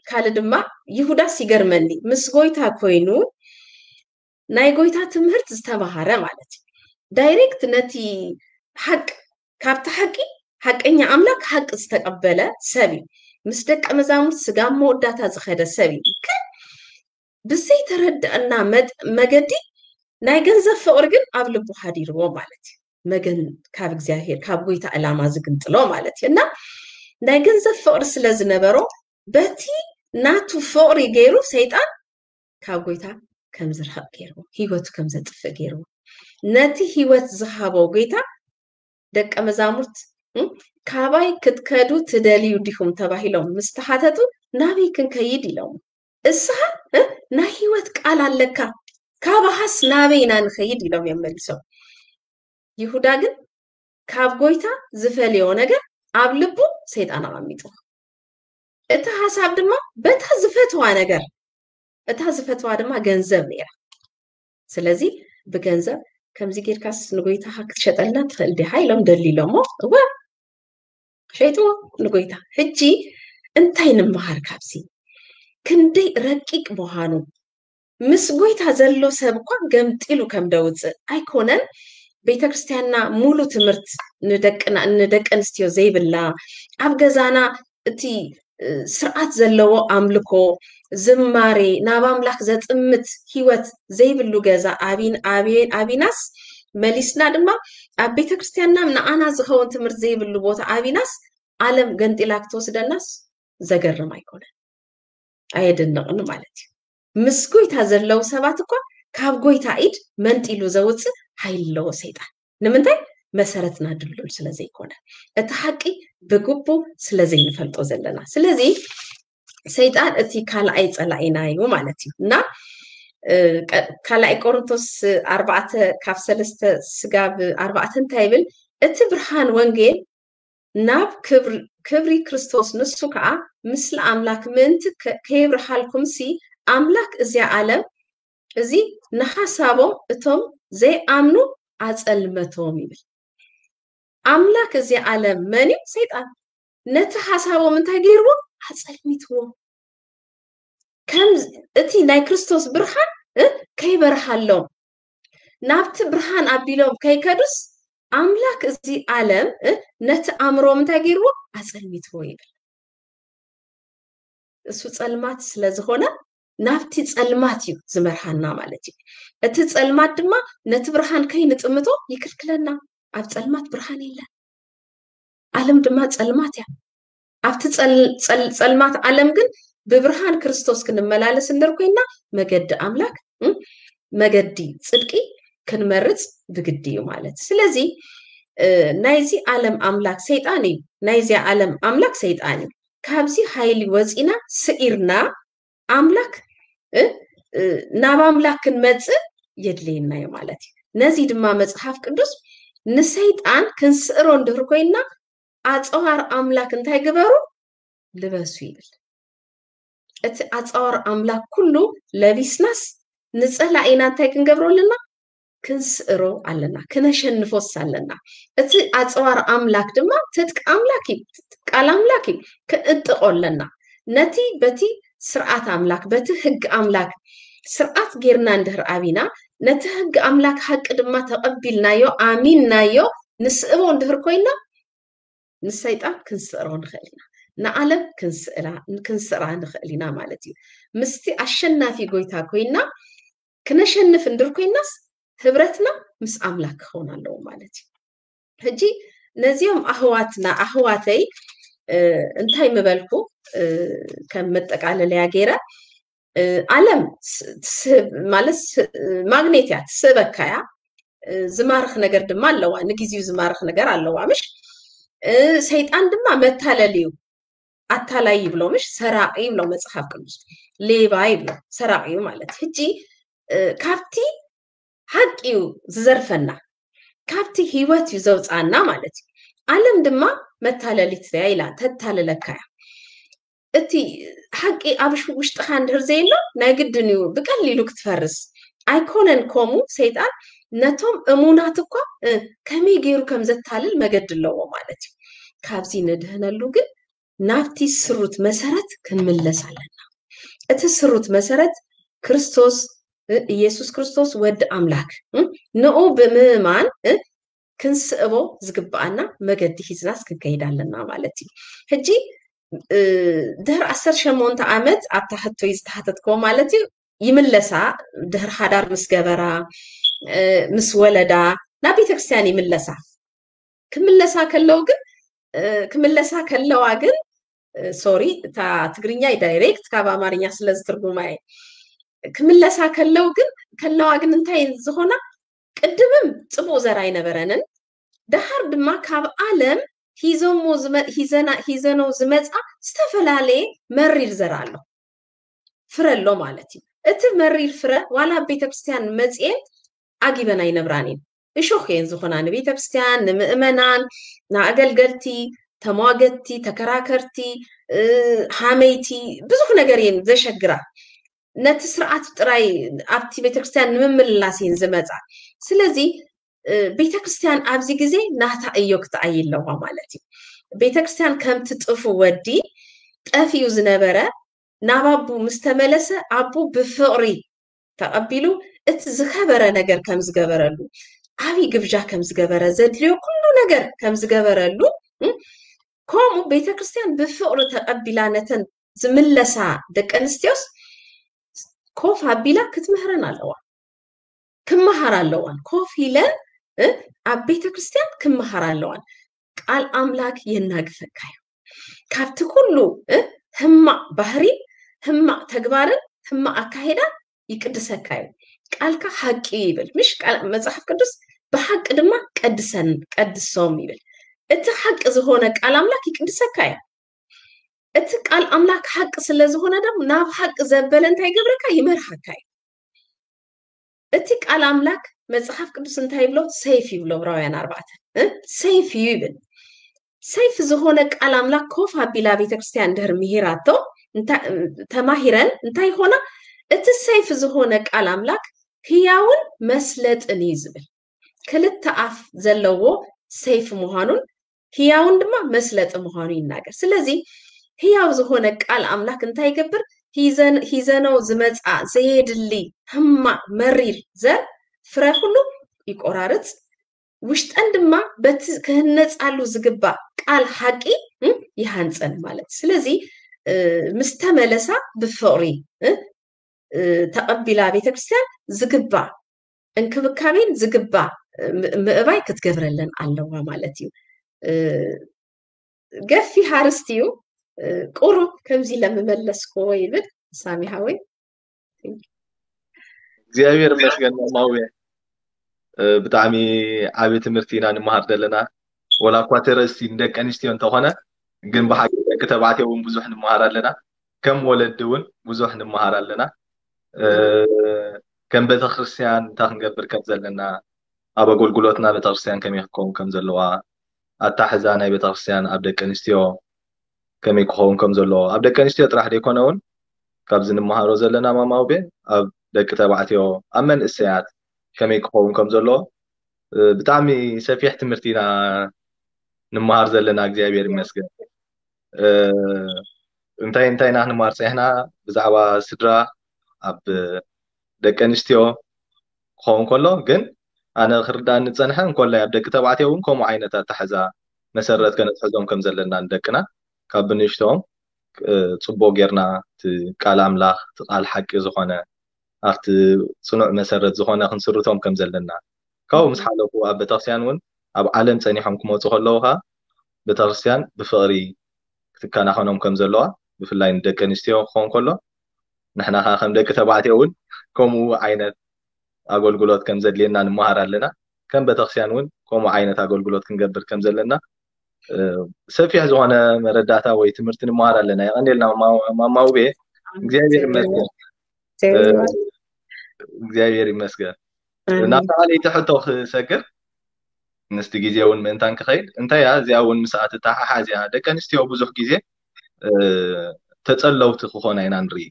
ካልእ ድማ ይሁዳስ ይገርመኒ፣ ምስ ጎይታ ኮይኑ ናይ ጎይታ ትምህርት ዝተማሃረ ማለት እዩ። ዳይሬክት ነቲ ሓቅ፣ ካብቲ ሓቂ፣ ሓቀኛ ኣምላክ ሓቂ ዝተቀበለ ሰብ እዩ። ምስ ደቀ መዛሙርት ስጋብ መወዳእታ ዝኸደ ሰብ እዩ። ግን ብዘይተረድአና መገዲ ናይ ገንዘብ ፍቅሪ ግን ኣብ ልቡ ሓዲርዎ ማለት እዩ። መገን ካብ እግዚኣብሔር ካብ ጎይታ ዕላማ ዝግንጥሎ ማለት እዩ። እና ናይ ገንዘብ ፍቅሪ ስለ ዝነበሮ በቲ ናቱ ፍቅሪ ገይሩ ሰይጣን ካብ ጎይታ ከም ዝርሕቅ ገይርዎ፣ ህይወቱ ከም ዘጥፍእ ገይርዎ። ነቲ ህይወት ዝሃቦ ጎይታ ደቀ መዛሙርት ካባይ ክትከዱ ትደልዩ ዲኹም ተባሂሎም ምስ ተሓተቱ ናበይ ክንከይድ ኢሎም። እስኻ ናይ ህይወት ቃል ኣለካ፣ ካባኻስ ናበይ ኢና ንኸይድ ኢሎም እዮም መሊሶም። ይሁዳ ግን ካብ ጎይታ ዝፈልዮ ነገር ኣብ ልቡ ሰይጣን ኣቐሚጡ። እቲ ሓሳብ ድማ በታ ዝፈትዋ ነገር፣ እታ ዝፈትዋ ድማ ገንዘብ ነይራ። ስለዚ ብገንዘብ ከምዚ ጌርካስ ንጎይታኻ ክትሸጠልና ትኽእል ዲኻ ኢሎም ደሊሎሞ። እወ ሸይጥዎ ንጎይታ። ሕጂ እንታይ ንምሃር ካብዚ? ክንደይ ረቂቅ ምዃኑ። ምስ ጎይታ ዘሎ ሰብ እኳ ገምጢሉ ከም ደውፅእ ኣይኮነን። ቤተክርስትያንና ሙሉ ትምህርት ንደቂ ኣንስትዮ ዘይብላ፣ ኣብ ገዛና እቲ ስርዓት ዘለዎ ኣምልኮ፣ ዝማሬ፣ ናብ ኣምላክ ዘጥምት ህይወት ዘይብሉ ገዛ ኣቢናስ፣ መሊስና ድማ ኣብ ቤተክርስትያንና ንዓና ዝኸውን ትምህርት ዘይብሉ ቦታ ኣቢናስ፣ ዓለም ገንጢላ ክትወስደናስ ዘገርም ኣይኮነን፣ ኣየደንቕን ማለት እዩ። ምስ ጎይታ ዘለዉ ሰባት እኳ ካብ ጎይታ ኢድ መንጢሉ ዘውፅእ ሓይሊ ኣለዎ ሰይጣን። ንምንታይ? መሰረትና ድልዱል ስለ ዘይኮነ፣ እቲ ሓቂ ብግቡ ስለ ዘይንፈልጦ ዘለና። ስለዚ ሰይጣን እቲ ካልኣይ ጸላኢና እዩ ማለት እዩ። እና ካልኣይ ቆሮንቶስ ኣርባዕተ ካብ ሰለስተ ስጋብ ኣርባዕተ እንታይ ይብል? እቲ ብርሃን ወንጌል ናብ ክብሪ ክርስቶስ፣ ንሱ ከዓ ምስለ ኣምላክ ምእንቲ ከይብርሃልኩም ሲ ኣምላክ እዚኣ ዓለም እዚ ንሓሳቦም እቶም ዘይኣምኑ ኣጸልመቶም ይብል። ኣምላክ እዚ ዓለም መን እዩ? ሰይጣን። ነቲ ሓሳቦም እንታይ ገይርዎ? ኣጸልሚትዎ። ከም እቲ ናይ ክርስቶስ ብርሃን ከይበርሃሎም፣ ናብቲ ብርሃን ኣቢሎም ከይከዱስ ኣምላክ እዚ ዓለም ነቲ ኣእምሮም እንታይ ገይርዎ? ኣጸልሚትዎ ይብል። እሱ ጸልማት ስለ ዝኾነ ናብቲ ጸልማት እዩ ዝመርሃና ማለት እዩ። እቲ ጸልማት ድማ ነቲ ብርሃን ከይንጥምቶ ይክልክለና። ኣብ ጸልማት ብርሃን የለን። ዓለም ድማ ጸልማት እያ። ኣብቲ ጸልማት ዓለም ግን ብብርሃን ክርስቶስ ክንመላለስ እንድር ኮይና መገዲ ኣምላክ፣ መገዲ ጽድቂ ክንመርጽ ብግዲ እዩ ማለት። ስለዚ ናይዚ ዓለም ኣምላክ ሰይጣን እዩ። ናይዚ ዓለም ኣምላክ ሰይጣን እዩ። ካብዚ ሓይሊ ወፂና ስዒርና ኣምላክ ናብ ኣምላክ ክንመፅእ የድልየና እዩ ማለት እዩ። ነዚ ድማ መፅሓፍ ቅዱስ ንሰይጣን ክንስእሮ እንድህር ኮይንና ኣፀዋር ኣምላክ እንታይ ግበሩ? ልበሱ ይብል። እቲ ኣፀዋር ኣምላክ ኩሉ ለቢስናስ ንፀላኢና እንታይ ክንገብሮ ኣለና? ክንስእሮ ኣለና፣ ክነሸንፎስ ኣለና። እቲ ኣፀዋር ኣምላክ ድማ ትጥቂ ኣምላክ እዩ፣ ቃል ኣምላክ እዩ፣ ክንእጥቆ ኣለና። ነቲ በቲ ስርዓት ኣምላክ፣ በቲ ህግ ኣምላክ ስርዓት ጌርና እንድህር ኣቢና፣ ነቲ ህግ ኣምላክ ሓቂ ድማ ተቐቢልናዮ፣ ኣሚንናዮ፣ ንስእቦ እንድህር ኮይና ንሰይጣን ክንስእሮ ንኽእል ኢና። ንዓለም ክንስእራ ንኽእል ኢና ማለት እዩ። ምስቲ ኣሸናፊ ጎይታ ኮይና ክነሸንፍ እንድር ኮይናስ ህብረትና ምስ ኣምላክ ክኸውን ኣለዎ ማለት እዩ። ሕጂ ነዚኦም ኣህዋትና ኣህዋተይ እንታይ ምበልኩ ከም መጠቃለለያ ገይረ ዓለም ማለት ማግኔት እያ፣ ትስእበካ እያ። ዝማርኽ ነገር ድማ ኣለዋ፣ ንግዜኡ ዝማርኽ ነገር ኣለዋ። ምሽ ሰይጣን ድማ መታለል እዩ፣ ኣታላይ ይብሎ፣ ምሽ ሰራቂ ይብሎ መጽሓፍ ቅዱስ፣ ሌባ ይብሎ፣ ሰራቂ እዩ ማለት። ሕጂ ካብቲ ሓቂ እዩ ዝዘርፈና፣ ካብቲ ህይወት እዩ ዘውፅኣና ማለት እዩ። ዓለም ድማ መታለሊት እያ ኢላ ተታልለካ እያ። እቲ ሓቂ ኣብ ውሽጥኻ እንድህር ዘየሎ ናይ ግድን እዩ ብቀሊሉ ክትፈርስ። ኣይኮነን ከምኡ፣ ሰይጣን ነቶም እሙናት እኳ ከመይ ገይሩ ከም ዘታልል መገዲ ኣለዎ ማለት እዩ። ካብዚ ንድህነሉ ግን ናብቲ ስሩት መሰረት ክንምለስ ኣለና። እቲ ስሩት መሰረት ክርስቶስ፣ ኢየሱስ ክርስቶስ ወዲ ኣምላክ፣ ንኡ ብምእማን ክንስእቦ ዝግብኣና መገዲ ሒዝናስ ክንከይድ ኣለና ማለት እዩ። ሕጂ ድሕሪ ዓሰርተ ሸሞንተ ዓመት ኣብታ ሕቶይ ዝተሓተትክዎ ማለት እዩ ይምለሳ፣ ድሕሪ ሓዳር ምስ ገበራ ምስ ወለዳ ናብ ቤተክርስትያን ይምለሳ። ክምለሳ ከለው ግን ክምለሳ ከለዋ ግን ሶሪ፣ እታ ትግርኛ ዳይሬክት ካብ ኣማርኛ ስለ ዝትርጉማ እየ። ክምለሳ ከለው ግን ከለዋ ግን እንታይ ዝኾና፣ ቅድምም ፅቡቅ ዘር ኣይነበረንን፣ ደሓር ድማ ካብ ዓለም ሂዘሞ ሂዘና ሂዘነው ዝመፃ ዝተፈላለየ መሪር ዘር ኣሎ፣ ፍረ ኣሎ ማለት እዩ። እቲ መሪር ፍረ ዋላ ኣብ ቤተክርስትያን መፅኤን ዓጊበን ኣይነብራን እየን። እሾኽ እየን ዝኾና ንቤተክርስትያን፣ ንምእመናን፣ ንኣገልገልቲ፣ ተሟገትቲ፣ ተከራከርቲ፣ ሃመይቲ፣ ብዙሕ ነገር እየን ዘሸግራ። ነቲ ስርዓት ጥራይ ኣብቲ ቤተክርስትያን ንምምልላስ እየን ዝመፃ። ስለዚ ቤተክርስትያን ኣብዚ ግዜ ናታ እዮ ክትኣይ ኣለዋ ማለት እዩ። ቤተክርስትያን ከምቲ ጥፉ ወዲ ጠፊኡ ዝነበረ ናብ ኣቡ ምስ ተመለሰ ኣቡ ብፍቕሪ ተቐቢሉ እቲ ዝኸበረ ነገር ከም ዝገበረሉ፣ ዓብዪ ግብዣ ከም ዝገበረ፣ ዘድልዮ ኩሉ ነገር ከም ዝገበረሉ፣ ከምኡ ቤተክርስትያን ብፍቕሪ ተቐቢላ ነተን ዝምለሳ ደቂ ኣንስትዮስ ኮፍ ኣቢላ ክትምህረን ኣለዋ። ክመሃር ኣለዋን። ኮፍ ኢለን ኣብ ቤተክርስትያን ክመሃር ኣለዋን። ቃል ኣምላክ የናግፈካ እዩ። ካብቲ ኩሉ ህማቅ ባህሪ፣ ህማቅ ተግባርን ህማቅ ኣካሄዳን ይቅድሰካ እዩ። ቃልካ ሓቂ ይብል፣ ምሽ? መጽሓፍ ቅዱስ ብሓቂ ድማ ቀድሰን ቀድሶም ይብል። እቲ ሓቂ ዝኾነ ቃል ኣምላክ ይቅድሰካ እዩ። እቲ ቃል ኣምላክ ሓቂ ስለ ዝኾነ ድማ ናብ ሓቂ ዘበለ እንታይ ይገብረካ? ይመርሓካ እዩ። እቲ ቃል ኣምላክ መጽሓፍ ቅዱስ እንታይ ይብሎ? ሰይፍ ይብሎ። ዕብራውያን ኣርባዕተ ሰይፍ እዩ ይብል። ሰይፍ ዝኾነ ቃል ኣምላክ ኮፍ ኣቢላ ቤተክርስትያን ድሕር ምሂራቶ ተማሂረን እንታይ ይኾና? እቲ ሰይፍ ዝኾነ ቃል ኣምላክ ህያውን መስለጥን እዩ ዝብል። ክልተ ኣፍ ዘለዎ ሰይፍ ምዃኑን ህያውን ድማ መስለጢ ምዃኑ ይናገር። ስለዚ ህያው ዝኾነ ቃል ኣምላክ እንታይ ይገብር? ሂዘነው ዝመፃ ዘየድሊ ሕማቅ መሪር ዘር ፍረ ኩሉ ይቆራርፅ፣ ውሽጠን ድማ በቲ ክህነፃሉ ዝግባእ ቃል ሓቂ ይሃንፀን ማለት። ስለዚ ምስ ተመለሳ ብፍቕሪ ተቐቢላ ቤተክርስትያን ዝግባእ እንክብካቤን ዝግባእ ምእባይ ክትገብረለን ኣለዋ ማለት እዩ። ገፊሕ ኣርእስቲ እዩ። ቁሩብ ከምዚ ኢለ ምመለስክዎ ይብል ሳሚ ሓወይ። እግዚኣብሔር ይመስገን ማማውየ። ብጣዕሚ ዓቢ ትምህርቲ ኢና ንምሃር ዘለና። ወላ እኳ እቲ ኣርእስቲ ንደቂ ኣንስትዮ እንተኾነ ግን ብሓቂ ደቂ ተባዕትዮ እውን ብዙሕ ንምሃር ኣለና። ከም ወለዲ እውን ብዙሕ ንምሃር ኣለና። ከም ቤተክርስትያን እንታይ ክንገብር ከም ዘለና፣ ኣብ ኣገልግሎትና ቤተክርስትያን ከመይ ክከውን ከም ዘለዋ፣ ኣታሕዛ ናይ ቤተክርስትያን ኣብ ደቂ ኣንስትዮ ከመይ ክኸውን ከም ዘለዎ፣ ኣብ ደቂ ኣንስትዮ ጥራሕ ዘይኮነ እውን ካብዚ ንምሃሮ ዘለና ማማውቤ ኣብ ደቂ ተባዕትዮ ኣብ መንእሰያት ከመይ ክኸውን ከም ዘለዎ ብጣዕሚ ሰፊሕ ትምህርቲ ኢና ንምሃር ዘለና። እግዚኣብሔር ይመስገን። እንታይ እንታይ ኢና ክንማር ፀኒሕና ብዛዕባ ስድራ ኣብ ደቂ ኣንስትዮ ክኸውን ከሎ ግን ኣነ ክርዳእኒ ዝፀንሐ እንኮላይ ኣብ ደቂ ተባዕትዮ እውን ከምኡ ዓይነት ኣታሕዛ መሰረት ከነትሕዞም ከም ዘለና ንደቅና ካብ ብንእሽተኦም ፅቡቅ ጌርና እቲ ቃል ኣምላኽ እቲ ቃል ሓቂ ዝኾነ ኣብቲ ፅኑዕ መሰረት ዝኾነ ክንስርቶም ከም ዘለና ካብኡ ምስ ሓለፉ ኣብ ቤተክርስትያን እውን ኣብ ዓለም ፀኒሖም ክመፁ ከለዉ ከዓ ቤተክርስትያን ብፍቕሪ ክትከናኸኖም ከም ዘለዋ ብፍላይ ንደቂ ኣንስትዮ ክኸውን ከሎ ንሕና ከዓ ከም ደቂ ተባዕትዮ እውን ከምኡ ዓይነት ኣገልግሎት ከም ዘድልየና ንምሃር ኣለና። ከም ቤተክርስትያን እውን ከምኡ ዓይነት ኣገልግሎት ክንገብር ከም ዘለና ሰፊሕ ዝኾነ መረዳእታ ወይ ትምህርቲ ንምሃር ኣለና። የቐንየልና ማማውቤ። እግዚኣብሔር ይመስገን። እግዚኣብሔር ይመስገን። ናብ ተቓለይቲ ሕቶ ክሰግር ምስቲ ግዜ እውን ምእንታን ክኸይድ እንታይ እያ እዚኣ እውን ምስኣ ትተሓሓዝ እያ። ደቂ ኣንስትዮ ብዙሕ ግዜ ተፀለውቲ ክኾና ኢና ንርኢ።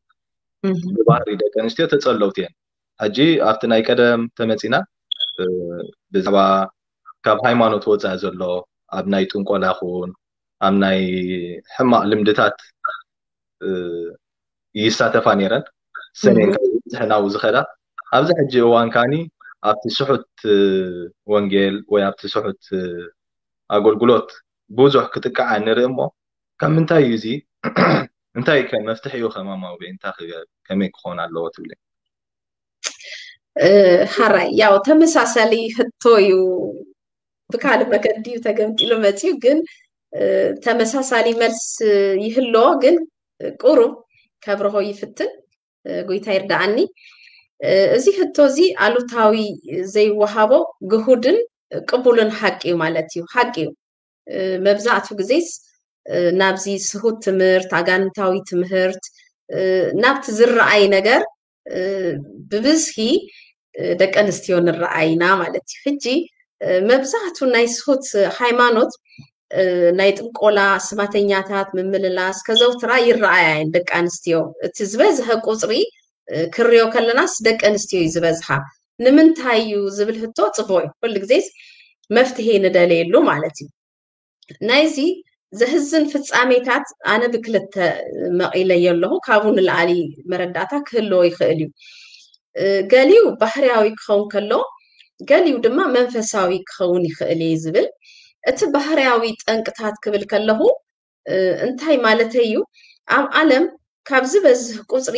ብባህሪ ደቂ ኣንስትዮ ተፀለውቲ እየን። ሕጂ ኣብቲ ናይ ቀደም ተመፂና ብዛዕባ ካብ ሃይማኖት ወፃኢ ዘሎ ኣብ ናይ ጥንቆላ ይኹን ኣብ ናይ ሕማቕ ልምድታት ይሳተፋ ነይረን። ሰሜን ዝበፅሐ ናብኡ ዝኸዳ ኣብዚ ሕጂ እዋን ካኒ ኣብቲ ስሑት ወንጌል ወይ ኣብቲ ስሑት ኣገልግሎት ብዙሕ ክጥቃዓ ንርኢ እሞ ካብ ምንታይ እዩ እዚ እንታይ ከ መፍትሒ እዩ ከማማዊ እንታይ ክገብ ከመይ ክኾን ኣለዎ ትብለ? ሓራይ ያው ተመሳሳሊ ሕቶ እዩ። ብካልእ መገዲ እዩ ተገምጢሉ መፅዩ ግን ተመሳሳሊ መልስ ይህልዎ ግን ቁሩብ ከብርሆ ይፍትን። ጎይታ ይርዳኣኒ። እዚ ሕቶ እዚ ኣሉታዊ ዘይወሃቦ ግሁድን ቅቡልን ሓቂ እዩ ማለት እዩ። ሓቂ እዩ። መብዛዕቱ ግዜስ ናብዚ ስሁት ትምህርት ኣጋንንታዊ ትምህርት ናብቲ ዝረኣይ ነገር ብብዝሒ ደቂ ኣንስትዮ ንረኣይና ማለት እዩ። ሕጂ መብዛሕቱ ናይ ስሁት ሃይማኖት ናይ ጥንቆላ ስማተኛታት ምምልላስ ከዘውትራ ይረኣያ እየን ደቂ ኣንስትዮ። እቲ ዝበዝሐ ቁፅሪ ክርዮ ከለናስ ደቂ ኣንስትዮ እዩ ዝበዝሓ። ንምንታይ እዩ ዝብል ህቶ ፅቡቅ እዩ። ኩሉ ግዜስ መፍትሄ ንደለየሉ ማለት እዩ። ናይዚ ዘህዝን ፍጻሜታት ኣነ ብክልተ መቒለዮ ኣለኹ። ካብኡ ንላዕሊ መረዳእታ ክህልዎ ይኽእል እዩ። ገሊኡ ባህርያዊ ክኸውን ከሎ ገሊኡ ድማ መንፈሳዊ ክኸውን ይኽእል እዩ ዝብል። እቲ ባህርያዊ ጠንቅታት ክብል ከለኹ እንታይ ማለተይ እዩ? ኣብ ዓለም ካብ ዝበዝህ ቁፅሪ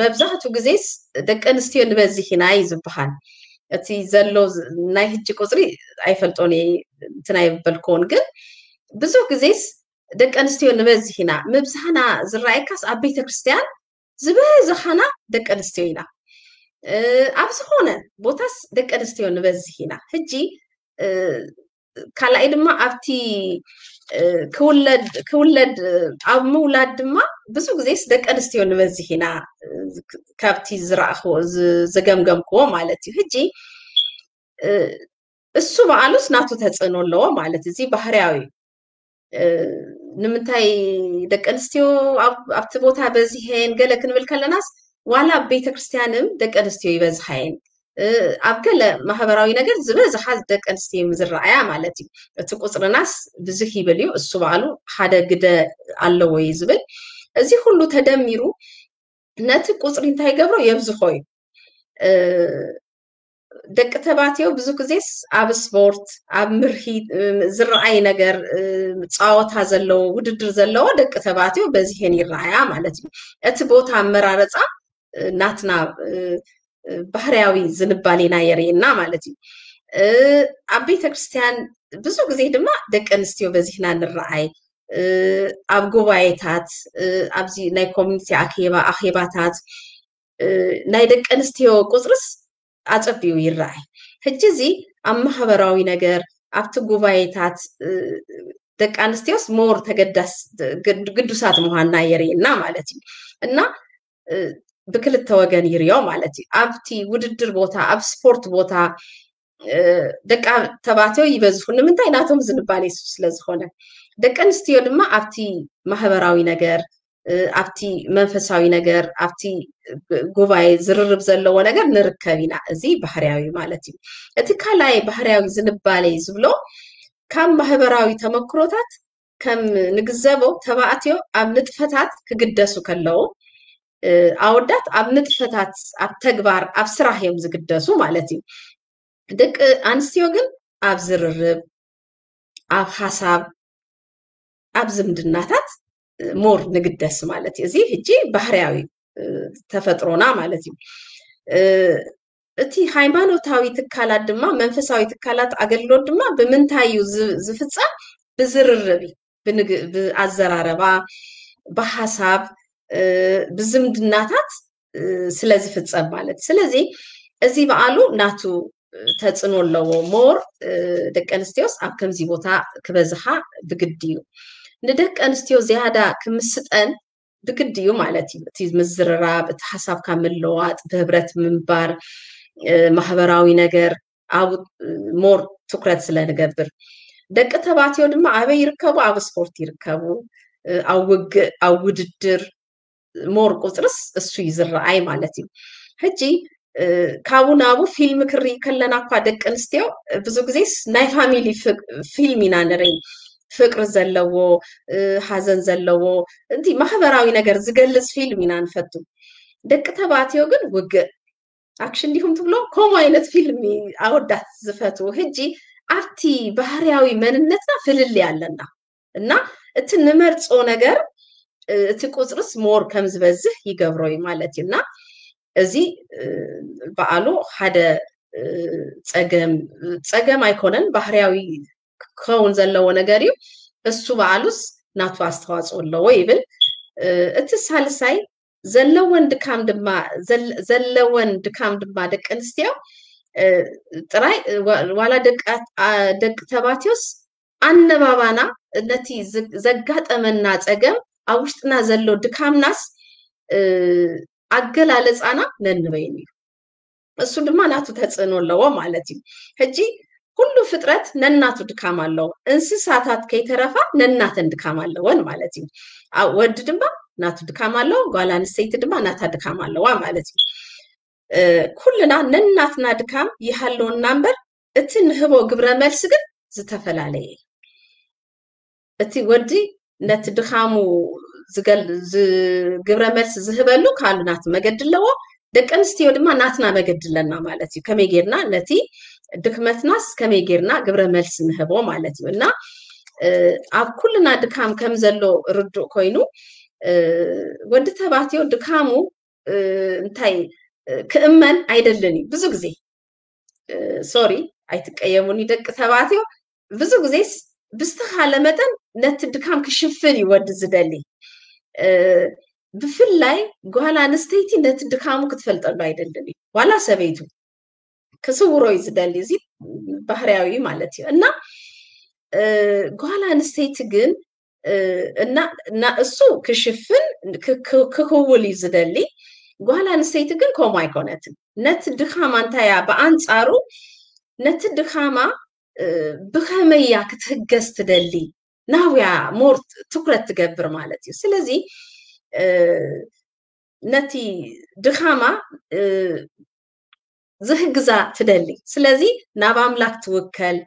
መብዛሕቱ ግዜስ ደቂ ኣንስትዮ ንበዝሕ ኢና እዩ ዝበሃል። እቲ ዘሎ ናይ ህጂ ቁፅሪ ኣይፈልጦን እየ እንትን ኣይበልክዎን ግን ብዙሕ ግዜስ ደቂ ኣንስትዮ ንበዝሕ ኢና። ምብዝሕና ዝረኣየካስ ኣብ ቤተክርስትያን ዝበዝሓና ደቂ ኣንስትዮ ኢና። ኣብ ዝኾነ ቦታስ ደቂ ኣንስትዮ ንበዝሕ ኢና። ሕጂ ካልኣይ ድማ ኣብቲ ክውለድ ክውለድ ኣብ ምውላድ ድማ ብዙ ግዜስ ደቂ ኣንስትዮ ንበዝሕ ኢና፣ ካብቲ ዝረኣኽዎ ዝገምገምክዎ ማለት እዩ። ሕጂ እሱ በዓሉስ ናቱ ተፅእኖ ኣለዎ ማለት እዚ ባህርያዊ እዩ። ንምንታይ ደቂ ኣንስትዮ ኣብቲ ቦታ በዚሐን ገለ ክንብል ከለናስ ዋላ ኣብ ቤተክርስትያንም ደቂ ኣንስትዮ ይበዝሓየን። ኣብ ገለ ማህበራዊ ነገር ዝበዝሓ ደቂ ኣንስትዮ ዝረኣያ ማለት እዩ። እቲ ቁፅርናስ ብዙሕ ይብል እዩ፣ እሱ በዓሉ ሓደ ግደ ኣለዎ እዩ ዝብል። እዚ ኩሉ ተደሚሩ ነቲ ቁፅሪ እንታይ ይገብሮ? የብዝሖ እዩ። ደቂ ተባትዮ ብዙ ግዜስ ኣብ ስፖርት ኣብ ምርሂ ዝረኣይ ነገር፣ ፃወታ ዘለዎ ውድድር ዘለዎ ደቂ ተባትዮ በዚሄን ይረኣያ ማለት እዩ። እቲ ቦታ ኣመራረፃ ናትና ባህርያዊ ዝንባሌና የርእየና ማለት እዩ። ኣብ ቤተክርስትያን ብዙ ግዜ ድማ ደቂ ኣንስትዮ በዚህና ንረኣይ። ኣብ ጉባኤታት፣ ኣብዚ ናይ ኮሚኒቲ ኣኼባ ኣኼባታት ናይ ደቂ ኣንስትዮ ቁፅርስ ኣፀቢኡ ይረኣይ። ሕጂ እዚ ኣብ ማህበራዊ ነገር ኣብቲ ጉባኤታት ደቂ ኣንስትዮስ ሞር ተገዳስ ግዱሳት ምዃንና የርእየና ማለት እዩ። እና ብክልተ ወገን ይርዮ ማለት እዩ። ኣብቲ ውድድር ቦታ ኣብ ስፖርት ቦታ ደቂ ተባትዮ ይበዝሑ። ንምንታይ? ናቶም ዝንባሌ እሱ ስለዝኾነ። ደቂ ኣንስትዮ ድማ ኣብቲ ማህበራዊ ነገር ኣብቲ መንፈሳዊ ነገር ኣብቲ ጉባኤ ዝርርብ ዘለዎ ነገር ንርከብ ኢና። እዚ ባህርያዊ ማለት እዩ። እቲ ካልኣይ ባህርያዊ ዝንባሌ ዝብሎ ካብ ማህበራዊ ተመክሮታት ከም ንግዘቦ ተባዕትዮ ኣብ ንጥፈታት ክግደሱ ከለዉ ኣወዳት ኣብ ንጥፈታት ኣብ ተግባር ኣብ ስራሕ እዮም ዝግደሱ ማለት እዩ። ደቂ ኣንስትዮ ግን ኣብ ዝርርብ ኣብ ሓሳብ ኣብ ዝምድናታት ሞር ንግደስ ማለት እዩ። እዚ ሕጂ ባህርያዊ ተፈጥሮና ማለት እዩ። እቲ ሃይማኖታዊ ትካላት ድማ መንፈሳዊ ትካላት ኣገልግሎት ድማ ብምንታይ እዩ ዝፍፀም? ብዝርርብ እዩ፣ ብኣዘራረባ፣ ብሓሳብ፣ ብዝምድናታት ስለ ዝፍፀም ማለት። ስለዚ እዚ በዓሉ ናቱ ተፅዕኖ ኣለዎ። ሞር ደቂ ኣንስትዮስ ኣብ ከምዚ ቦታ ክበዝሓ ብግዲ እዩ። ንደቂ ኣንስትዮ ዝያዳ ክምስጠን ብግዲ እዩ ማለት እዩ። እቲ ምዝርራብ፣ እቲ ሓሳብካ ምልዋጥ፣ ብህብረት ምንባር፣ ማህበራዊ ነገር ኣብ ሞር ትኩረት ስለ ንገብር። ደቂ ተባትዮ ድማ ኣበይ ይርከቡ? ኣብ ስፖርት ይርከቡ፣ ኣብ ውግእ፣ ኣብ ውድድር ሞር ቁፅርስ እሱ እዩ ዝረኣይ ማለት እዩ። ሕጂ ካብኡ ናብኡ ፊልም ክርኢ ከለና እኳ ደቂ ኣንስትዮ ብዙ ግዜስ ናይ ፋሚሊ ፊልም ኢና ንርኢ። ፍቅሪ ዘለዎ፣ ሓዘን ዘለዎ፣ እቲ ማህበራዊ ነገር ዝገልፅ ፊልም ኢና ንፈቱ። ደቂ ተባትዮ ግን ውግእ፣ ኣክሽን ዲኹም ትብሎ፣ ከምኡ ዓይነት ፊልም ኣወዳት ዝፈትዉ። ሕጂ ኣብቲ ባህርያዊ መንነትና ፍልልይ ኣለና እና እቲ ንመርፆ ነገር እቲ ቁፅርስ ሞር ከም ዝበዝሕ ይገብሮ እዩ ማለት እዩ። እና እዚ በዓሉ ሓደ ፀገም ፀገም ኣይኮነን፣ ባህርያዊ ክኸውን ዘለዎ ነገር እዩ። እሱ በዓሉስ ናቱ ኣስተዋፅኦ ኣለዎ ይብል። እቲ ሳልሳይ ዘለወን ድካም ድማ ዘለወን ድካም ድማ ደቂ ኣንስትዮ ጥራይ ዋላ ደቂ ተባትዮስ ኣነባባና ነቲ ዘጋጠመና ፀገም ኣብ ውሽጥና ዘሎ ድካምናስ ኣገላለፃና ነንበይኑ እዩ። እሱ ድማ ናቱ ተፅዕኖ ኣለዎ ማለት እዩ። ሕጂ ኩሉ ፍጥረት ነናቱ ድካም ኣለዎ። እንስሳታት ከይተረፋ ነናተን ድካም ኣለወን ማለት እዩ። ወዲ ድማ ናቱ ድካም ኣለዎ፣ ጓል ኣንስተይቲ ድማ ናታ ድካም ኣለዋ ማለት እዩ። ኩልና ነናትና ድካም ይሃለወና እምበር እቲ ንህቦ ግብረ መልሲ ግን ዝተፈላለየ እዩ። እቲ ወዲ ነቲ ድኻሙ ግብረ መልሲ ዝህበሉ ካልእ ናቱ መገዲ ኣለዎ። ደቂ ኣንስትዮ ድማ ናትና መገዲ ኣለና ማለት እዩ። ከመይ ጌርና ነቲ ድክመትናስ ከመይ ጌርና ግብረ መልሲ ንህቦ ማለት እዩ። እና ኣብ ኩልና ድካም ከም ዘሎ ርዱእ ኮይኑ ወዲ ተባትዮ ድካሙ እንታይ ክእመን ኣይደልን እዩ ብዙ ግዜ። ሶሪ ኣይትቀየሙኒ ደቂ ተባትዮ፣ ብዙ ግዜስ ብዝተኻለ መጠን ነቲ ድካም ክሽፍን እዩ ወዲ ዝደሊ። ብፍላይ ጓል ኣንስተይቲ ነቲ ድካሙ ክትፈልጠሉ ኣይደልን እዩ። ዋላ ሰበይቱ ክስውሮ እዩ ዝደሊ። እዚ ባህርያዊ ማለት እዩ። እና ጓል ኣንስተይቲ ግን እና እሱ ክሽፍን ክክውል እዩ ዝደሊ። ጓል ኣንስተይቲ ግን ከምኡ ኣይኮነትን። ነቲ ድካማ እንታይ እያ ብኣንጻሩ ነቲ ድካማ ብኸመይ እያ ክትህገዝ ትደሊ ናውያ ሞር ትኩረት ትገብር ማለት እዩ። ስለዚ ነቲ ድኻማ ዝህግዛ ትደሊ። ስለዚ ናብ ኣምላክ ትውከል።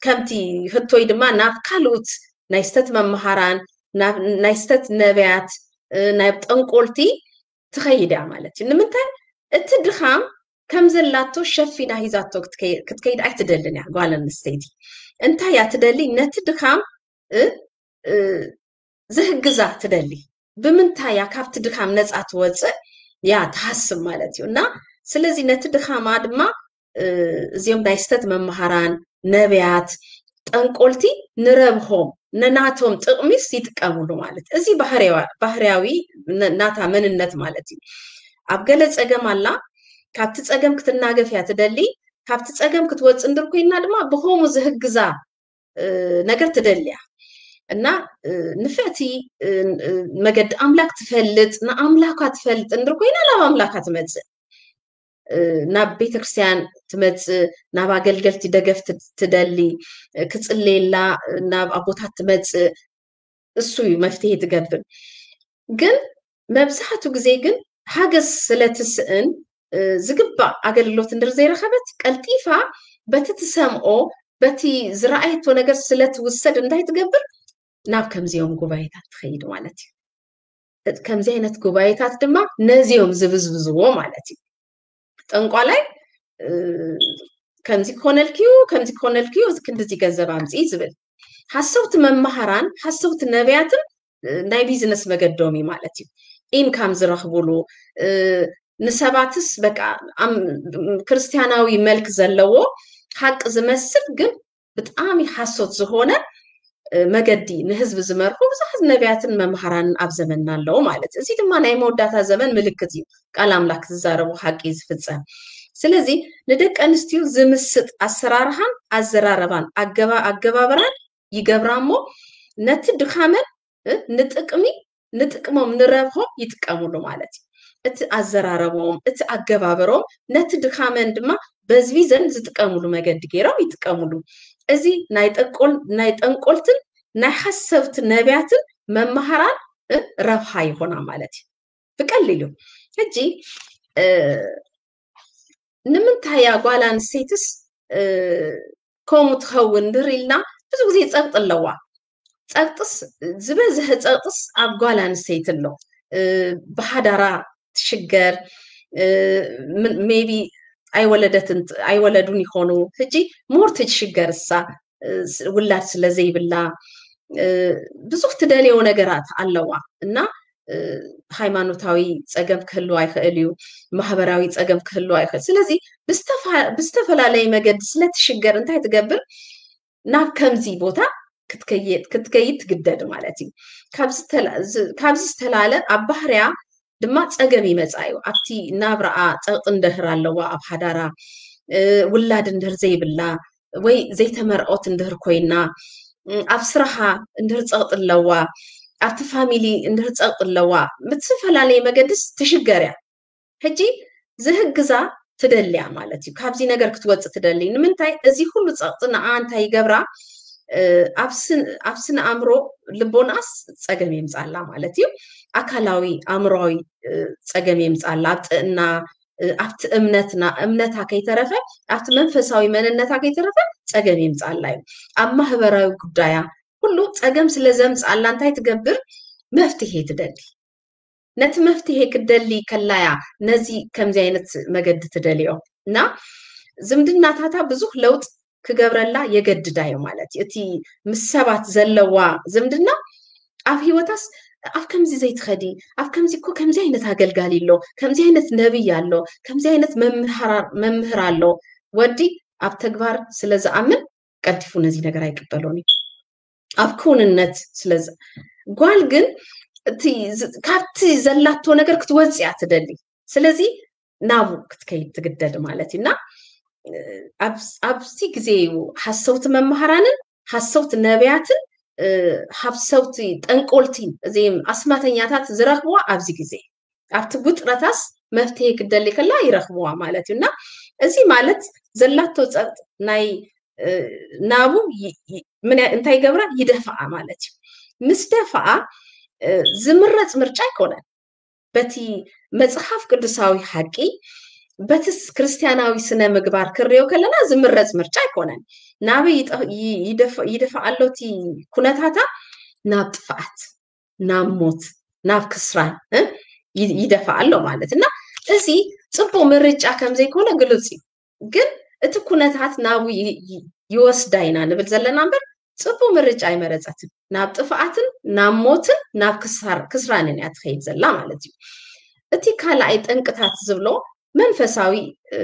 ከምቲ ህቶይ ድማ ናብ ካልኡት ናይ ስተት መምሃራን ናይ ስተት ነቢያት ናብ ጠንቆልቲ ትኸይድ እያ ማለት እዩ። ንምንታይ እቲ ድኻም ከም ዘላቶ ሸፊና ሂዛቶ ክትከይድ ኣይትደልን እያ ጓል ኣንስተይቲ። እንታይ እያ ትደሊ? ነቲ ድኻም ዝህግዛ ትደሊ። ብምንታይ እያ ካብቲ ድኻም ነፃ ትወፅእ? ያ ትሃስብ ማለት እዩ። እና ስለዚ ነቲ ድኻማ ድማ እዚኦም ናይ ስተት መምሃራን ነቢያት ጠንቆልቲ ንረብሆም ነናቶም ጥቕሚስ ይጥቀሙሉ ማለት እዚ ባህርያዊ ናታ መንነት ማለት እዩ። ኣብ ገለ ፀገም ኣላ ካብቲ ፀገም ክትናገፍ እያ ትደሊ። ካብቲ ፀገም ክትወፅ እንድር ኮይና ድማ ብኸሙ ዝህግዛ ነገር ትደልያ እና ንፍዕቲ መገዲ ኣምላክ ትፈልጥ ንኣምላኳ ትፈልጥ እንድር ኮይና ናብ ኣምላካ ትመፅእ ናብ ቤተክርስትያን ትመፅእ ናብ ኣገልገልቲ ደገፍ ትደሊ ክፅልየላ ናብ ኣቦታት ትመፅእ እሱ እዩ መፍትሄ ትገብር። ግን መብዛሕቱ ግዜ ግን ሓገዝ ስለትስእን ዝግባእ ኣገልግሎት እንድር ዘይረኸበት ቀልጢፋ በቲ ትሰምኦ በቲ ዝረኣየቶ ነገር ስለትውሰድ እንታይ ትገብር ናብ ከምዚኦም ጉባኤታት ትኸይድ ማለት እዩ። ከምዚ ዓይነት ጉባኤታት ድማ ነዚኦም ዝብዝብዝዎ ማለት እዩ። ጠንቋላይ ከምዚ ክኾነልክዩ ከምዚ ክኾነልክዩ ክንድዚ ገንዘብ ኣምፅኢ ዝብል ሓሰውቲ መማሃራን ሓሰውቲ ነቢያትን ናይ ቢዝነስ መገዶም እዩ ማለት እዩ። ኢንካም ዝረኽቡሉ ንሰባትስ በቃ ክርስትያናዊ መልክ ዘለዎ ሓቂ ዝመስል ግን ብጣዕሚ ሓሶት ዝኾነ መገዲ ንህዝቢ ዝመርሑ ብዙሓት ነቢያትን መምሃራንን ኣብ ዘመንና ኣለዉ ማለት እዩ። እዚ ድማ ናይ መወዳእታ ዘመን ምልክት እዩ። ቃል ኣምላክ ዝዛረቡ ሓቂ እዩ ዝፍጸም። ስለዚ ንደቂ ኣንስትዮ ዝምስጥ ኣሰራርሓን ኣዘራረባን ኣገባብራን ይገብራ እሞ ነቲ ድኻመን ንጥቅሚ ንጥቅሞም ንረብሆም ይጥቀሙሉ ማለት እዩ። እቲ ኣዘራረቦም እቲ ኣገባበሮም ነቲ ድኻመን ድማ በዝቢዘን ዝጥቀሙሉ መገዲ ገይሮም ይጥቀሙሉ። እዚ ናይ ጠንቆልትን ናይ ሓሰብቲ ነቢያትን መመሃራን ረብሃ ይኾና ማለት እዩ። ብቀሊሉ ሕጂ ንምንታይ እያ ጓል ኣንስተይትስ ከምኡ ትኸውን ድር ኢልና ብዙ ግዜ ፀቅጢ ኣለዋ። ፀቅጥስ ዝበዝሐ ፀቅጥስ ኣብ ጓል ኣንስተይቲ ኣሎ። ብሓዳራ ትሽገር maybe ኣይወለደትን ኣይወለዱን ይኾኑ። ሕጂ more ትሽገር እሳ ውላድ ስለ ዘይብላ ብዙሕ ትደልዮ ነገራት ኣለዋ እና ሃይማኖታዊ ፀገም ክህልዋ ይኽእል እዩ። ማህበራዊ ፀገም ክህልዋ ይኽእል። ስለዚ ብዝተፈላለየ መገዲ ስለትሽገር እንታይ ትገብር? ናብ ከምዚ ቦታ ክትከይድ ትግደድ ማለት እዩ። ካብዚ ዝተላለ ኣብ ባህርያ ድማ ፀገም ይመፃ እዩ። ኣብቲ ናብራኣ ፀቕጢ እንድህር ኣለዋ ኣብ ሓዳራ ውላድ እንድህር ዘይብላ ወይ ዘይተመርዖት እንድህር ኮይና ኣብ ስራሓ እንድህር ፀቕጢ ኣለዋ ኣብቲ ፋሚሊ እንድህር ፀቕጢ ኣለዋ ብዝተፈላለየ መገድስ ትሽገር እያ። ሕጂ ዝህግዛ ትደልያ ማለት እዩ። ካብዚ ነገር ክትወፅእ ትደሊ። ንምንታይ እዚ ኩሉ ፀቕጢ ንዓ እንታይ ይገብራ? ኣብ ስነ ኣእምሮ ልቦናስ ፀገም የምፃላ ማለት እዩ። ኣካላዊ ኣእምሮዊ ፀገም የምፃላ ኣብ ጥዕና ኣብቲ እምነትና እምነታ ከይተረፈ ኣብቲ መንፈሳዊ መንነታ ከይተረፈ ፀገም የምፃላ እዩ። ኣብ ማህበራዊ ጉዳያ ኩሉ ፀገም ስለ ዘምፃላ እንታይ ትገብር? መፍትሄ ትደሊ። ነቲ መፍትሄ ክትደሊ ከላያ ነዚ ከምዚ ዓይነት መገዲ ትደልዮ እና ዝምድናታታ ብዙሕ ለውጥ ክገብረላ የገድዳ እዩ ማለት እዩ። እቲ ምስ ሰባት ዘለዋ ዝምድና ኣብ ህይወታስ ኣብ ከምዚ ዘይትኸዲ ኣብ ከምዚ እኮ ከምዚ ዓይነት ኣገልጋሊ ኣሎ ከምዚ ዓይነት ነብይ ኣሎ ከምዚ ዓይነት መምህር ኣሎ ወዲ ኣብ ተግባር ስለ ዝኣምን ቀልጢፉ ነዚ ነገር ኣይቅበሎን እዩ። ኣብ ክውንነት ስለ ጓል ግን እቲ ዝ- ካብቲ ዘላቶ ነገር ክትወፅእ እያ ትደሊ። ስለዚ ናቡ ክትከይድ ትግደድ ማለት እዩ። እና እ፣ ኣብ- ኣብዚ ግዜ እዩ ሓሰውቲ መምሃራንን ሓሰውቲ ነቢያትን እ፣ ሓሰውቲ ጠንቆልቲን እዚም ኣስማተኛታት ዝረኽብዋ ኣብዚ ግዜ ኣብቲ ውጥረታስ መፍትሄ ክደሊ ከላ ይረኽብዋ ማለት እዩ። እና እዚ ማለት ዘላቶ ጸጥ ናይ እ፣ ናቡ ይ- ይ- ምን ያ- እንታይ ይገብራ ይደፍኣ ማለት እዩ። ምስ ደፍኣ እ፣ ዝምረጽ ምርጫ ኣይኮነን። በቲ መጽሓፍ ቅዱሳዊ ሓቂ በቲ ስ- ክርስትያናዊ ስነ ምግባር ክርዮ ከለና ዝምረጽ ምርጫ ኣይኮነን። ናበይ ይጠ- ይ- ይደፍ- ይደፍኣ ኣሎ እቲ ኩነታታ ናብ ጥፍኣት፣ ናብ ሞት፣ ናብ ክስራን እ? ይ- ይደፍኣ ኣሎ ማለት እና እዚ ጽቡቅ ምርጫ ከም ዘይኮነ ግልጽ እዩ። ግን እቲ ኩነታት ናቡ ይ- ይ- ይወስዳ ኢና ንብል ዘለና እምበር ጽቡቅ ምርጫ ኣይመረጸትን። ናብ ጥፍኣትን ናብ ሞትን ናብ ክሳር ክስራንን እያ ትኸይድ ዘላ ማለት እዩ። እቲ ካልኣይ ጠንቅታት ዝብሎ መንፈሳዊ እ፣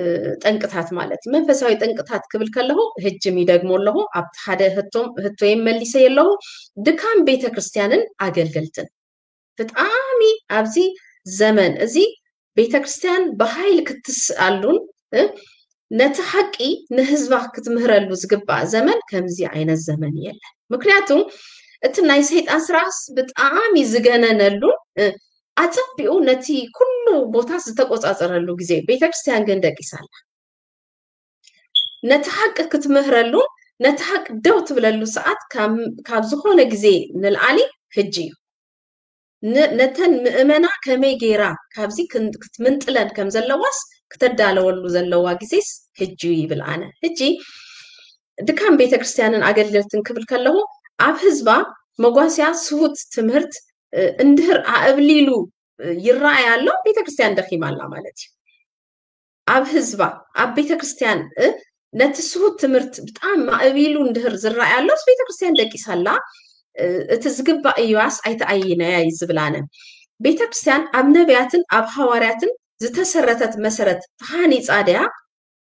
ጠንቅታት ማለት እዩ። መንፈሳዊ ጠንቅታት ክብል ከለኹ ህጅም ይደግሞ ኣለኹ። ኣብቲ ሓደ ህቶም ህቶይም መሊሰ ኣለኹ። ድካም ቤተክርስትያንን ኣገልገልትን ብጣዕሚ ኣብዚ ዘመን እዚ ቤተክርስትያን ብሃይል ክትስኣሉን እ፣ ነቲ ሓቂ ንህዝባ ክትምህረሉ ዝግባእ ዘመን ከምዚ ዓይነት ዘመን የለን። ምክንያቱ እቲ ናይ ሰይጣን ስራሕስ ብጣዕሚ ዝገነነሉን እ፣ ኣጸቢቑ ነቲ ኩሉ ቦታ ዝተቆጻጸረሉ ግዜ ቤተክርስትያን ግን ደቂሳ ኣላ። ነቲ ሓቂ ክትምህረሉን ነቲ ሓቂ ደው ትብለሉ ሰዓት ካብ- ካብ ዝኾነ ግዜ ንልዓሊ ህጂ እዩ። ን- ነተን ምእመና ከመይ ገይራ ካብዚ ክን- ክትምንጥለን ከም ዘለዋስ ክተዳለወሉ ዘለዋ ግዜስ ህጂ እዩ ይብል ኣነ። ህጂ ድካም ቤተክርስትያንን ኣገልገልትን ክብል ከለኹ ኣብ ህዝባ መጓስያ ስሁት ትምህርት እ፣ እንድህር ኣእብሊሉ እ፣ ይረኣይ ኣሎ፣ ቤተክርስትያን ደኺማ ኣላ ማለት እዩ። ኣብ ህዝባ ኣብ ቤተክርስትያን እ፣ ነቲ ስሁት ትምህርት ብጣዕሚ ኣእቢሉ እንድህር ዝረኣይ ኣሎስ ቤተክርስትያን ደቂሳ ኣላ። እ፣ እቲ ዝግባእ እዩዋስ ኣይተኣይነያ እዩ ዝብል ኣነ። ቤተክርስትያን ኣብ ነቢያትን ኣብ ሃዋርያትን ዝተሰረተት መሰረት ተሃኒፃ ድያ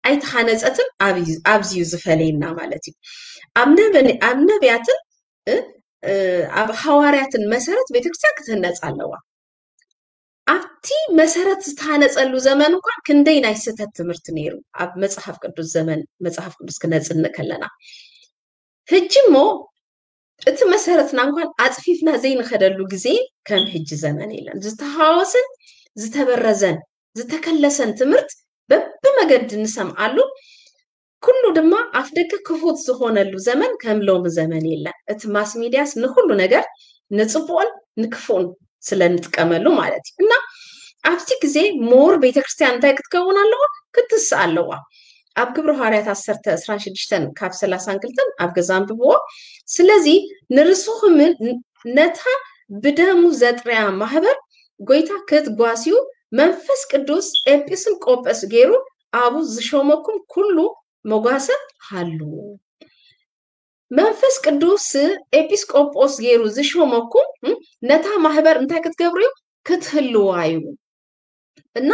ኣይተሃነፀትን ኣብዩ- ኣብዚ እዩ ዝፈለየና ማለት እዩ። ኣብ ነበ- ኣብ ነቢያትን እ፣ እ፣ ኣብ ሃዋርያትን መሰረት ቤተክርስትያን ክትህነፅ ኣለዋ። ኣብቲ መሰረት ዝተሃነፀሉ ዘመን እንኳን ክንደይ ናይ ስህተት ትምህርቲ ነይሩ ኣብ መፅሓፍ ቅዱስ ዘመን መፅሓፍ ቅዱስ ክነፅንእ ከለና። ህጂ እሞ እቲ መሰረትና እንኳን ኣፅፊፍና ዘይንኸደሉ ግዜ ከም ህጂ ዘመን የለን። ዝተሃወሰን ዝተበረዘን ዝተከለሰን ትምህርት በብመገዲ ንሰምዓሉ። ኩሉ ድማ ኣፍ ደገ ክፉት ዝኾነሉ ዘመን ከም ሎሚ ዘመን የለን። እቲ ማስ ሚድያስ ንኩሉ ነገር ንፅቡቕን ንክፉእን ስለ ንጥቀመሉ ማለት እዩ። እና ኣብቲ ግዜ ሞር ቤተክርስትያን እንታይ ክትከውን ኣለዋ? ክትስእ ኣለዋ። ኣብ ግብሪ ሃዋርያት ዓሰርተ ዕስራን ሽዱሽተን ካብ ሰላሳን ክልተን ኣብ ገዛ ኣንብብዎ። ስለዚ ንርስኹምን ነታ ብደሙ ዘጥርያ ማህበር ጎይታ ክትጓስዩ መንፈስ ቅዱስ ኤጲስን ቆጶስ ገይሩ ኣብኡ ዝሾመኩም ኩሉ መጓሰ ሃሉ። መንፈስ ቅዱስ ኤጲስቆጶስ ገይሩ ዝሾመኩም እ፣ ነታ ማህበር እንታይ ክትገብሩ እዩ? ክትህልዋ እዩ። እና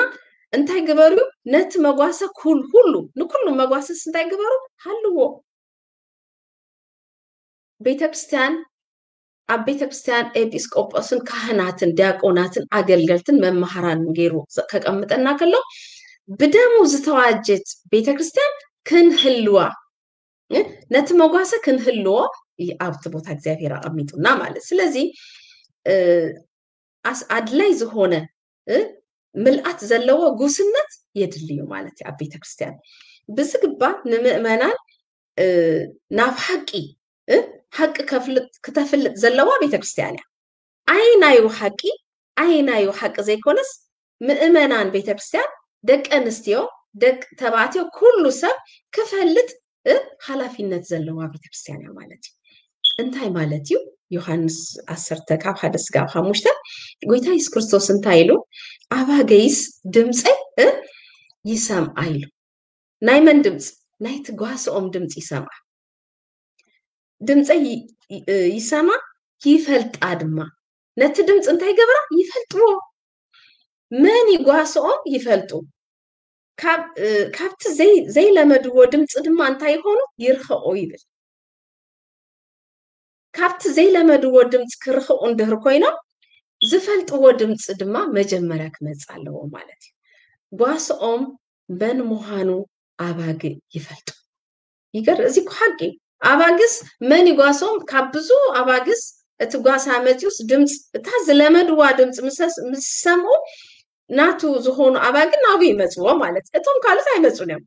እንታይ ግበሩ? ነቲ መጓሰ ኩል- ሁሉ ንኩሉ መጓሰስ እንታይ ግበሩ? ሃልዎ። ቤተክርስትያን ኣብ ቤተክርስትያን ኤጲስቆጶስን ካህናትን ዲያቆናትን ኣገልገልትን መማህራንን ገይሩ ከቀምጠና ከሎ ብደሙ ዝተዋጀት ቤተክርስትያን ክንህልዋ እ፣ ነቲ መጓሰ ክንህልዎ ይ- ኣብቲ ቦታ እግዚኣብሔር ኣቐሚጡና ማለት። ስለዚ እ፣ ኣስ ኣድላይ ዝኾነ እ፣ ምልኣት ዘለዎ ጉስነት የድልዩ ማለት እዩ ኣብ ቤተክርስትያን ብዝግባ ንምእመናን እ፣ ናብ ሓቂ እ፣ ሓቂ ከፍልጥ ክተፍልጥ ዘለዋ ቤተክርስትያን እያ። ኣይናዩ ሓቂ ኣይናዩ ሓቂ ዘይኮነስ ምእመናን ቤተክርስትያን ደቂ ኣንስትዮ ደቂ ተባዕትዮ ኩሉ ሰብ ክፈልጥ እ፣ ሓላፊነት ዘለዋ ቤተክርስትያን እያ ማለት እዩ። እንታይ ማለት እዩ? ዮሃንስ ዓሰርተ ካብ ሓደ ስጋብ ሓሙሽተ ጎይታ የሱስ ክርስቶስ እንታይ ኢሉ? ኣባገይስ ድምፀይ እ፣ ይሰምዓ ኢሉ። ናይ መን ድምፂ? ናይ ትጓስኦም ድምፂ ይሰምዓ። ድምፀይ ይ- ይ- ይሰማ ይፈልጣ ድማ። ነቲ ድምፂ እንታይ ገብራ? ይፈልጥዎ። መን ይጓስኦም ይፈልጡ። ካብ እ፣ ካብቲ ዘይ- ዘይለመድዎ ድምፂ ድማ እንታይ ይኾኑ? ይርኸቑ ይብል። ካብቲ ዘይለመድዎ ድምፂ ክርኸቑ እንድህር ኮይኖም ዝፈልጥዎ ድምፂ ድማ መጀመርያ ክመፅእ ኣለዎ ማለት እዩ። ጓስኦም መን ምዃኑ ኣባግዕ ይፈልጡ። ይገር እዚ እኮ ሓቂ። ኣባግስ መን ይጓሶም? ካብ ብዙ ኣባግስ እቲ ጓሳ መፂኡስ ድምፂ እታ ዝለመድዋ ድምፂ ምስ ዝሰምዑ ናቱ ዝኾኑ ኣባግዕ ናብኡ ይመፅዎ ማለት። እቶም ካልኦት ኣይመፁን እዮም።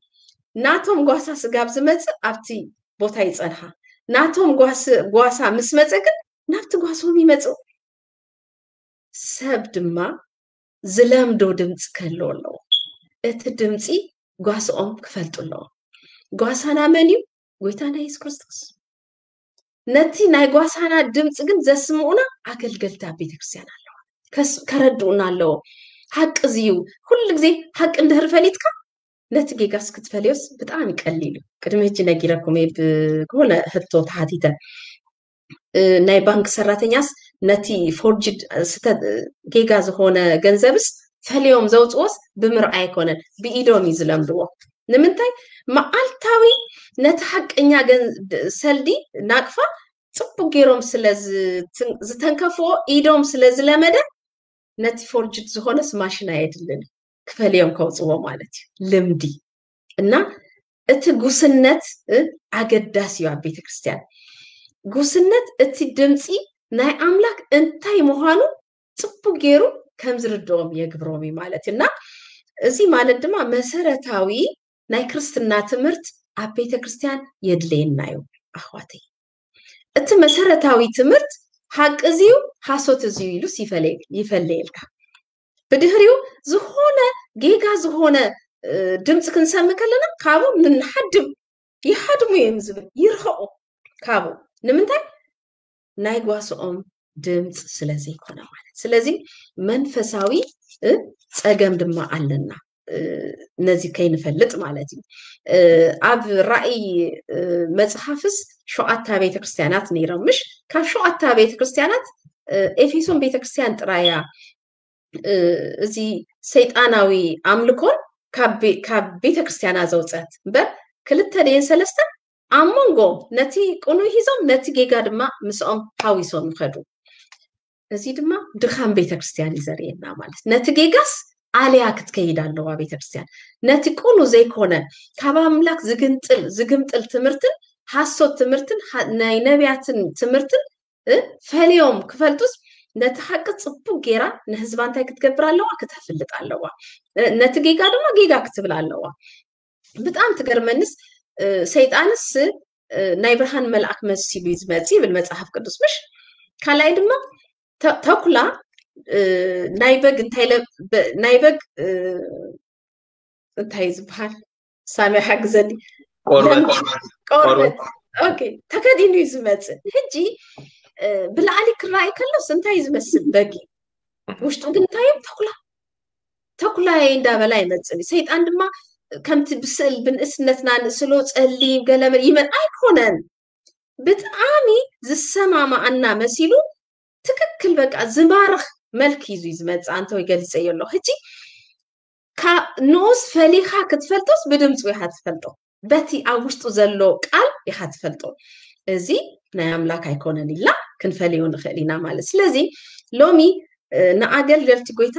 ናቶም ጓሳ ስጋብ ዝመፅእ ኣብቲ ቦታ ይፀንሓ። ናቶም ጓሳ ምስ መፀ ግን ናብቲ ጓሶም ይመፅኡ። ሰብ ድማ ዝለምዶ ድምፂ ክህልዎ ኣለዎ። እቲ ድምፂ ጓስኦም ክፈልጡ ኣለዎ። ጓሳና መን እዩ? ጎይታና የሱስ ክርስቶስ። ነቲ ናይ ጓሳና ድምፂ ግን ዘስምዑና ኣገልገልቲ ኣብ ቤተክርስትያን ኣለዋ። ከረድኡና ኣለዎ። ሓቂ እዚ እዩ። ኩሉ ግዜ ሓቂ እንድህር ፈሊጥካ ነቲ ጌጋስ ክትፈልዮስ ብጣዕሚ ቀሊል እዩ። ቅድሚ ሕጂ ነጊረኩም እየ ብዝኾነ ሕቶ ተሓቲተ። ናይ ባንክ ሰራተኛስ ነቲ ፎርጅድ ጌጋ ዝኾነ ገንዘብስ ፈልዮም ዘውፅዎስ ብምርኣይ ኣይኮነን፣ ብኢዶም እዩ ዝለምድዎ። ንምንታይ? መዓልታዊ ነቲ ሓቀኛ ሰልዲ ናቅፋ ፅቡቅ ገይሮም ስለ ዝተንከፍዎ ኢዶም ስለ ዝለመደ ነቲ ፎርጅድ ዝኾነስ ማሽን ኣየድልን ክፈልዮም ከውፅዎ ማለት እዩ። ልምዲ እና እቲ ጉስነት ኣገዳሲ እዩ ኣብ ቤተክርስትያን። ጉስነት እቲ ድምፂ ናይ ኣምላክ እንታይ ምዃኑ ፅቡቅ ገይሩ ከም ዝርድኦም የግብሮም እዩ ማለት እዩ። እና እዚ ማለት ድማ መሰረታዊ ናይ ክርስትና ትምህርት ኣብ ቤተክርስትያን የድለየና እዩ ኣሕዋተይ። እቲ መሰረታዊ ትምህርት ሓቂ እዚዩ ሓሶት እዚዩ ኢሉስ ይፈለየልካ። ብድህሪኡ ዝኾነ ጌጋ ዝኾነ ድምፂ ክንሰሚ ከለና ካብኡ ንሓድም ይሓድሙ እዮም ዝብል ይርሕቁ ካብኡ። ንምንታይ? ናይ ጓስኦም ድምፂ ስለ ዘይኮነ ማለት። ስለዚ መንፈሳዊ ፀገም ድማ ኣለና ነዚ ከይንፈልጥ ማለት እዩ። ኣብ ራእይ መፅሓፍስ ሸውዓታ ቤተክርስትያናት ነይሮም ምሽ? ካብ ሸውዓታ ቤተክርስትያናት ኤፌሶን ቤተክርስትያን ጥራያ እዚ ሰይጣናዊ ኣምልኮን ካብ ቤተክርስትያና ዘውፀት እምበር ክልተ ደየን ሰለስተ ኣብ መንጎ ነቲ ቅኑይ ሂዞም ነቲ ጌጋ ድማ ምስኦም ሓዊሶም ይኸዱ። እዚ ድማ ድኻም ቤተክርስትያን እዩ ዘርእየና ማለት። ነቲ ጌጋስ ኣልያ ክትከይድ ኣለዋ ቤተክርስትያን። ነቲ ቅኑ ዘይኮነ ካብ ኣምላክ ዝግንጥል ዝግምጥል ትምህርትን ሓሶት ትምህርትን ናይ ነቢያትን ትምህርትን ፈልዮም ክፈልጡስ ነቲ ሓቂ ፅቡቅ ጌራ ንህዝባ እንታይ ክትገብር ኣለዋ? ክተፍልጥ ኣለዋ። ነቲ ጌጋ ድማ ጌጋ ክትብል ኣለዋ። ብጣዕሚ ትገርመንስ ሰይጣንስ ናይ ብርሃን መልኣክ መሲሉ እዩ ዝመፅእ ይብል መፅሓፍ ቅዱስ ምሽ? ካልኣይ ድማ ተኩላ ናይ በግ እንታይ ናይ በግ እንታይ እዩ ዝበሃል? ሳሚ ሓግዘኒ። ቆርበት ተከዲኑ እዩ ዝመፅእ። ሕጂ ብላዕሊ ክረኣይ ከሎስ እንታይ እዩ ዝመስል? በጊ። ውሽጡ ግን እንታይ እዩ? ተኩላ። ተኩላየ እንዳበላ ይመፅእ። ሰይጣን ድማ ከምቲ ብስእል ብንእስነትና ንእስሎ ፀሊም ገለመል ይመ ኣይኮነን። ብጣዕሚ ዝሰማማኣና መሲሉ ትክክል በቃ ዝማርኽ መልክ እዩ ዝመፅእ። ኣንተ ወይ ገሊፀዮ ኣለኹ ሕጂ ንኡስ ፈሊኻ ክትፈልጦስ ብድምፁ ኢኻ ትፈልጦ። በቲ ኣብ ውሽጡ ዘሎ ቃል ኢኻ ትፈልጦ። እዚ ናይ ኣምላክ ኣይኮነን ኢልና ክንፈልዮ ንኽእል ኢና ማለት። ስለዚ ሎሚ ንኣገልገልቲ ጎይታ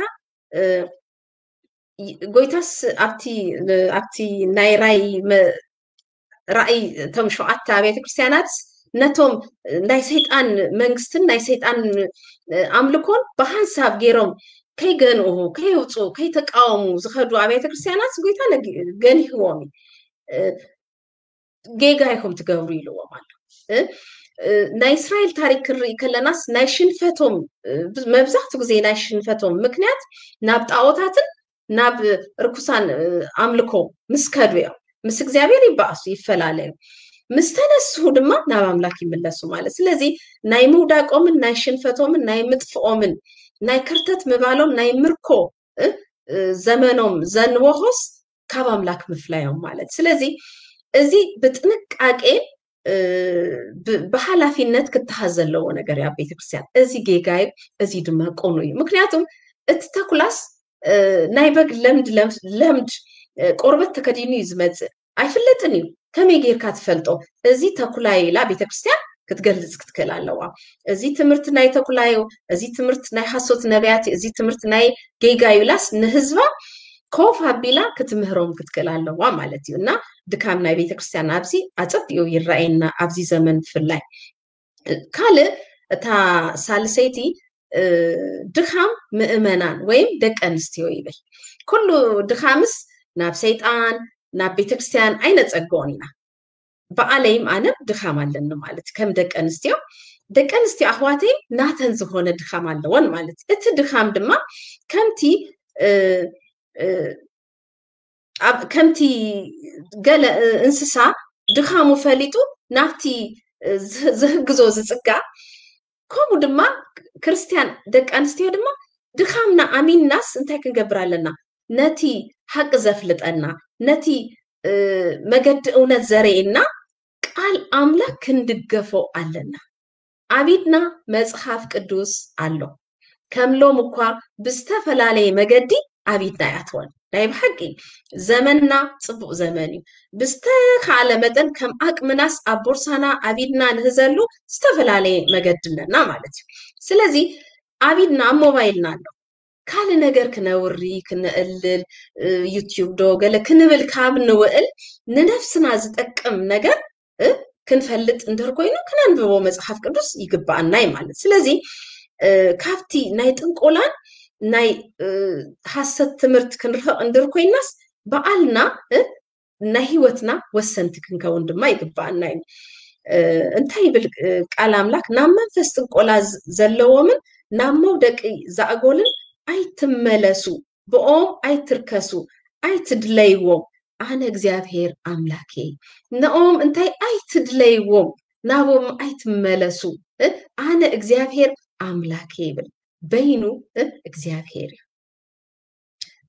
ጎይታስ ኣብቲ ኣብቲ ናይ ራይ ራእይ እቶም ሸውዓተ ኣብያተ ክርስትያናት ነቶም ናይ ሰይጣን መንግስትን ናይ ሰይጣን ኣምልኮን ብሓንሳብ ገይሮም ከይገንኡ ከየውፅኡ ከይተቃወሙ ዝኸዱ ኣብያተ ክርስትያናት ጎይታ ገኒህዎም እዩ። ጌጋ ኢኹም ትገብሩ ኢልዎም ኣሎ። ናይ እስራኤል ታሪክ ክንርኢ ከለናስ ናይ ሽንፈቶም መብዛሕቱ ግዜ ናይ ሽንፈቶም ምክንያት ናብ ጣዖታትን ናብ ርኩሳን ኣምልኮ ምስ ከዱ እዮም። ምስ እግዚኣብሔር ይበኣሱ ይፈላለዩ። ምስ ተነስሁ ድማ ናብ ኣምላክ ይምለሱ ማለት። ስለዚ ናይ ምውዳቆምን ናይ ሽንፈቶምን ናይ ምጥፍኦምን ናይ ከርተት ምባሎም ናይ ምርኮ ዘመኖም ዘንወሆስ ካብ ኣምላክ ምፍላዮም ማለት። ስለዚ እዚ ብጥንቃቄ ብሓላፊነት ክተሃዝ ዘለዎ ነገር እዩ ኣብ ቤተክርስትያን። እዚ ጌጋ እዩ፣ እዚ ድማ ቅኑ እዩ። ምክንያቱም እቲ ተኩላስ ናይ በግ ለምድ ለምድ ቆርበት ተከዲኑ እዩ ዝመፅእ። ኣይፍለጥን እዩ። ከመይ ጌርካ ትፈልጦ? እዚ ተኩላ ኢላ ቤተክርስትያን ክትገልጽ ክትክእል ኣለዋ። እዚ ትምህርቲ ናይ ተኩላ እዩ፣ እዚ ትምህርቲ ናይ ሓሶት ነቢያት እዩ፣ እዚ ትምህርቲ ናይ ጌጋ እዩ ኢላስ ንህዝባ ኮፍ ኣቢላ ክትምህሮም ክትክእል ኣለዋ ማለት እዩ። እና ድካም ናይ ቤተክርስትያን ኣብዚ ኣጸቢቑ ይረኣየና፣ ኣብዚ ዘመን ብፍላይ። ካልእ፣ እታ ሳልሰይቲ፣ እ፣ ድኻም ምእመናን ወይም ደቂ ኣንስትዮ ይብል። ኩሉ ድኻምስ ናብ ሰይጣን፣ ናብ ቤተክርስትያን ኣይነጸግኦን ኢና። በዓለይም ኣነም ድኻም ኣለኒ ማለት ከም ደቂ ኣንስትዮ፣ ደቂ ኣንስትዮ ኣሕዋተይም ናተን ዝኾነ ድኻም ኣለወን ማለት። እቲ ድኻም ድማ ከምቲ፣ እ፣ እ፣ ኣብ ከምቲ ገለ፣ እ፣ እንስሳ ድኻሙ ፈሊጡ ናብቲ፣ እ፣ ዝህ-፣ ዝህግዞ ዝጽጋ፣ ከምኡ ድማ ክርስትያን ደቂ ኣንስትዮ ድማ ድኻምና ኣሚንናስ እንታይ ክንገብር ኣለና? ነቲ ሓቂ ዘፍልጠና፣ ነቲ፣ እ፣ መገዲ እውነት ዘርእየና ቃል ኣምላክ ክንድገፎ ኣለና። ኣብ ኢድና መጽሓፍ ቅዱስ ኣሎ። ከም ሎም እኳ ብዝተፈላለየ መገዲ ኣብ ኢድና ኣይኣተወን። ናይ ብሓቂ ዘመንና ጽቡቕ ዘመን እዩ። ብዝተኻለ መጠን ከም ኣቅምናስ ኣብ ቦርሳና ኣብ ኢድና ንህዘሉ ዝተፈላለየ መገዲ ኣለና ማለት እዩ። ስለዚ ኣብ ኢድና ኣብ ሞባይልና ኣሎ። ካልእ ነገር ክነውሪ፣ ክነእልል፣ እ፣ ዩትዩብ ዶ ገለ ክንብል ካብ ንውእል ንነፍስና ዝጠቅም ነገር፣ እ፣ ክንፈልጥ እንድህር ኮይኑ ክነንብቦ መጽሓፍ ቅዱስ ይግብኣና እዩ ማለት። ስለዚ፣ እ፣ ካብቲ ናይ ጥንቆላን ናይ፣ እ፣ ሓሰት ትምህርቲ ክንርሕቕ እንድህር ኮይናስ በዓልና፣ እ፣ ናይ ህይወትና ወሰንቲ ክንከውን ድማ ይግብኣና እዩ። እ፣ እንታይ ይብል፣ እ፣ ቃል ኣምላክ? ናብ መንፈስ ጥንቆላ ዝ-፣ ዘለዎምን ናብ መውደቂ ዛእጎልን ኣይትመለሱ፣ ብኦም ኣይትርከሱ፣ ኣይትድለይዎም፣ ኣነ እግዚኣብሔር ኣምላክ እየ። ነኦም እንታይ ኣይትድለይዎም፣ ናቦም ኣይትመለሱ፣ እ፣ ኣነ እግዚኣብሔር ኣምላክ እየ ይብል። በይኑ፣ እ፣ እግዚኣብሔር እዩ።